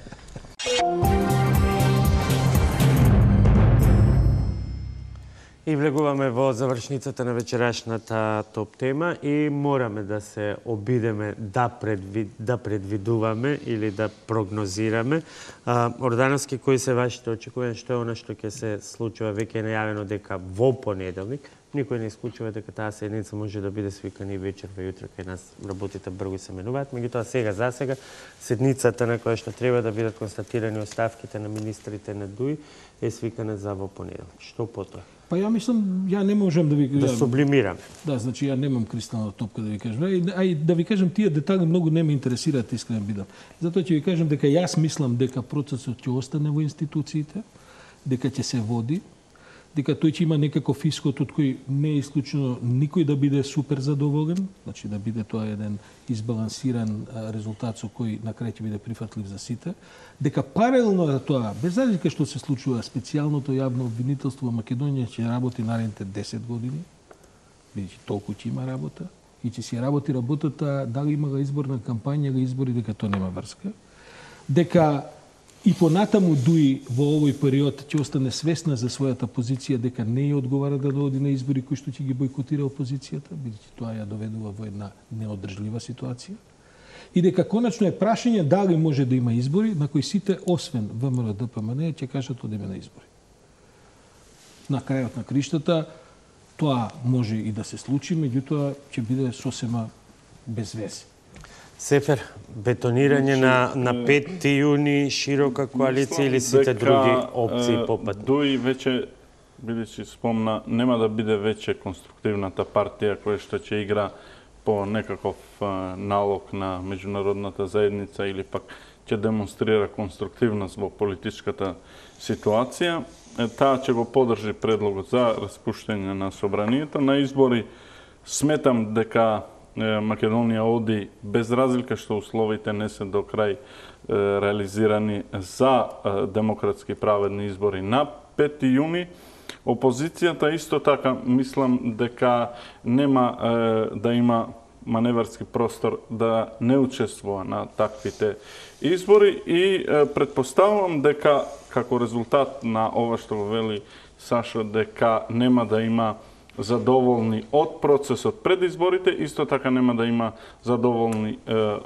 И влегуваме во завршницата на вечерашната топ тема и мораме да се обидеме да, предвид, да предвидуваме или да прогнозираме. А, Ордановски, кои се вашите очекувања, што е она што ќе се случува, веќе е најавено дека во понеделник, никој не исклучува дека таа седница може да биде свикана и вечер во јутро, кај нас работите брзо се менуваат, меѓутоа сега за сега седницата на која што треба да бидат констатирани оставките на министрите на ДУИ е свикана за во понеделник. Што потоа? Па ја мислам, ја не можам да ви да сублимирам. Да, значи ја немам кристална топка да ви кажам. А и да ви кажам, тие детали многу не ме интересираат, искрено бидам. Затоа ќе ви кажам дека јас мислам дека процесот ќе остане во институциите, дека ќе се води, дека тој ќе има некаков исход од кој не е исклучено никој да биде супер задоволен, значи да биде тоа еден избалансиран резултат со кој на крај ќе биде прифатлив за сите, дека паралелно на тоа, без разлика што се случува, специјалното јавно обвинителство во Македонија ќе работи наредните десет години, бидејќи толку ќе има работа, и ќе си работи работата, дали имала изборна кампања или избори, дека тоа нема врска, дека и понатаму ДУИ во овој период ќе остане свесна за својата позиција дека не ја одговара да дојде на избори кои што ќе ги бойкотира опозицијата, бидејќи тоа ја доведува во една неодржлива ситуација. и дека конечно е прашање дали може да има избори на кои сите освен ВМРО Д П М Н ќе кажат одиме на избори. На крајот на криштата тоа може и да се случи, меѓутоа ќе биде сосема без везе. Сефер, бетонирање на, на пети јуни, широка коалиција или сите други опции попат? Дуи веќе, бидејќи спомна, нема да биде веќе конструктивната партија која што ќе игра по некаков а, налог на меѓународната заедница или пак ќе демонстрира конструктивност во политичката ситуација. Таа ќе го подржи предлогот за распуштање на собранието. На избори сметам дека Македонија оди без разлика што условите не се до крај е, реализирани за е, демократски праведни избори на пети јуни. Опозицијата исто така мислам дека нема е, да има маневарски простор да не учествува на таквите избори и е, предпоставувам дека како резултат на ова што го вели Сашо, дека нема да има задоволни од процесот пред изборите, исто така нема да има задоволни е,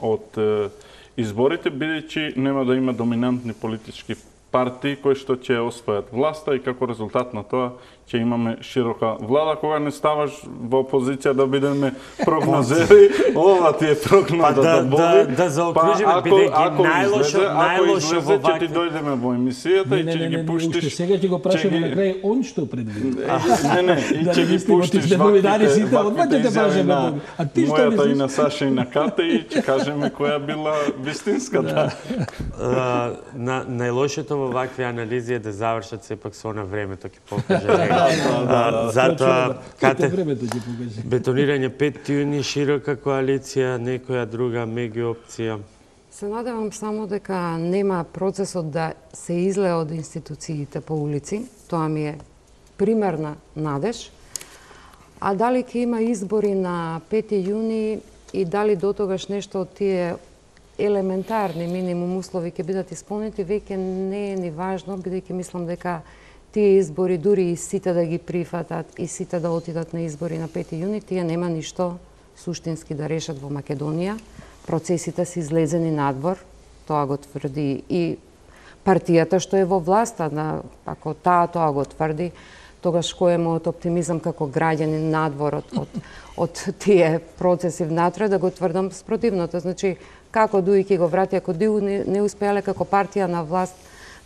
од е, изборите, бидејќи нема да има доминантни политички партии кои што ќе освојат власта и како резултат на тоа ќе имаме широка влада. Кога не ставаш во опозиција да бидеме прогнозери, ова ти е прогнозата да, боли. Да, да заокружиме, па, бидејќи најлошо, најлошо во ќе ти дојдеме во емисијата и ќе ги пуштиш. Уште сега ќе го прашаме на крај он што предвиди. Не, не, и ќе ги пуштиш ваквите, ваквите изјави на мојата и на Саша и на Кате и ќе кажеме која била вистинската. На најлошото во вакви анализи е да завршат сепак со на времето ќе покаже. Затоа, Кате, бетонирање пети јуни, широка коалиција, некоја друга меѓуопција? Се надевам само дека нема процесот да се излее од институциите по улици. Тоа ми е примерна надеж. А дали ќе има избори на пети јуни и дали до тогаш нешто од тие елементарни минимум услови ќе бидат исполнети, веќе не е ни важно, бидејќи мислам дека тие избори, дури и сите да ги прифатат и сите да отидат на избори на пети јуни, тие нема ништо суштински да решат во Македонија. Процесите се излезени надвор, тоа го тврди и партијата што е во власта. Ако таа тоа го тврди, тогаш кој е мојот оптимизам како граѓанин надвор од, од, од тие процеси внатре, да го тврдам спротивното. Значи, како Дуи ќе го врати, ако Дуи не, не успеале како партија на власт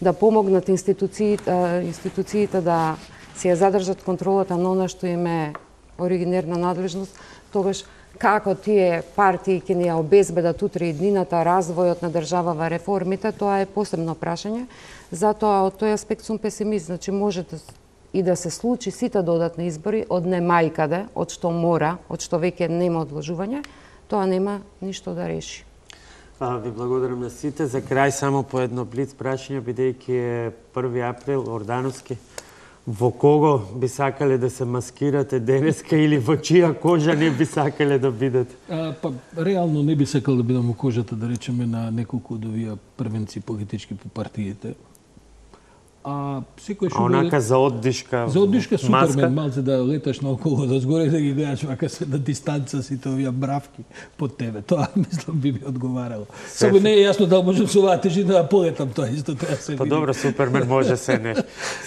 да помогнат институциите, институциите да си ја задржат контролата на она што им е оригинерна надлежност, тогаш како тие партии ќе ни ја обезбедат утре и днината, развојот на државава, реформите, тоа е посебно прашање. Затоа од тој аспект сум песимист. Значи, може да, и да се случи сите додатни избори од немајкаде, од што мора, од што веќе нема одложување, тоа нема ништо да реши. А, ви благодарам на сите. За крај само по едно блиц прашање, бидејќи е први април, Ордановски. Во кого би сакале да се маскирате денеска или во чија кожа не би сакале да бидете? А, па, реално не би сакал да бидам во кожата, да речеме, на неколку од овие првенци политички по партиите. А секој што онака за оддишка, за оддишка маска? Супермен, малце да леташ наоколу од згоре да ги гледаш вака се на дистанца сите овие мравки под тебе. Тоа мислам би ми одговарало. Само не е јасно дали можам со оваа тежина да полетам, тоа исто треба се види. Па добро, Супермен може се не.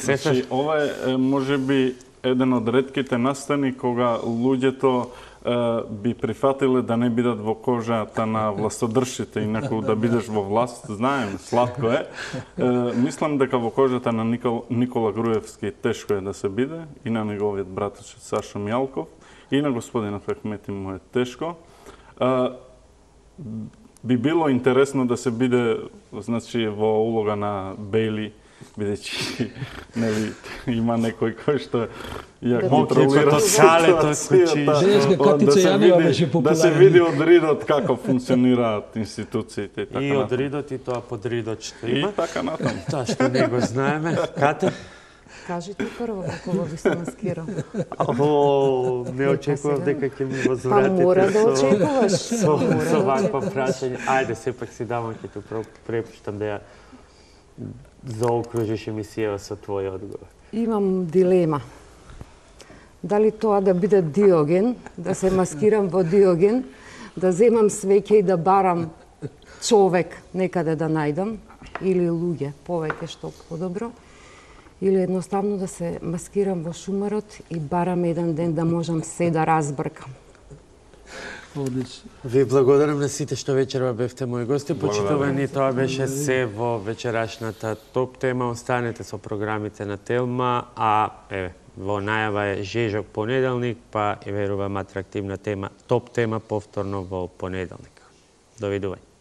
Значи, ова е можеби еден од ретките настани кога луѓето би прифатиле да не бидат во кожата на властодржците, инаку да бидеш во власт, знаем, сладко е. Мислам дека во кожата на Никол, Никола Груевски тешко е да се биде, и на неговиот братаче Сашо Мјалков, и на господинот Ахмети му е тешко. Би било интересно да се биде, значи, во улога на Бейли, бидејќи нели има некој кој што ја контролира ситуацијата, да се види, да се види од ридот како функционираат институциите и така и од ридот и тоа под ридот што има. И така натаму. Тоа што не го знаеме. Кате? Кажете прво кога би се маскирал. О, не очекував дека ќе ми го звратите. Па мора да очекуваш. Со, со вакво прашање. Ајде, сепак си давам ќе ту препуштам да ја заокружиш емисија со твој одговор. Имам дилема. Дали тоа да биде Диоген, да се маскирам во Диоген, да земам свеќе и да барам човек некаде да најдам, или луѓе, повеќе што подобро, или едноставно да се маскирам во шумарот и барам еден ден да можам се да разбркам. Одлично. Ви благодарам на сите што вечерва бевте мои гости. Почитувани, тоа беше се во вечерашната топ тема. Останете со програмите на Телма, а еве, во најава е Жежок понеделник, па е верувам атрактивна тема, топ тема повторно во понеделник. Довидување.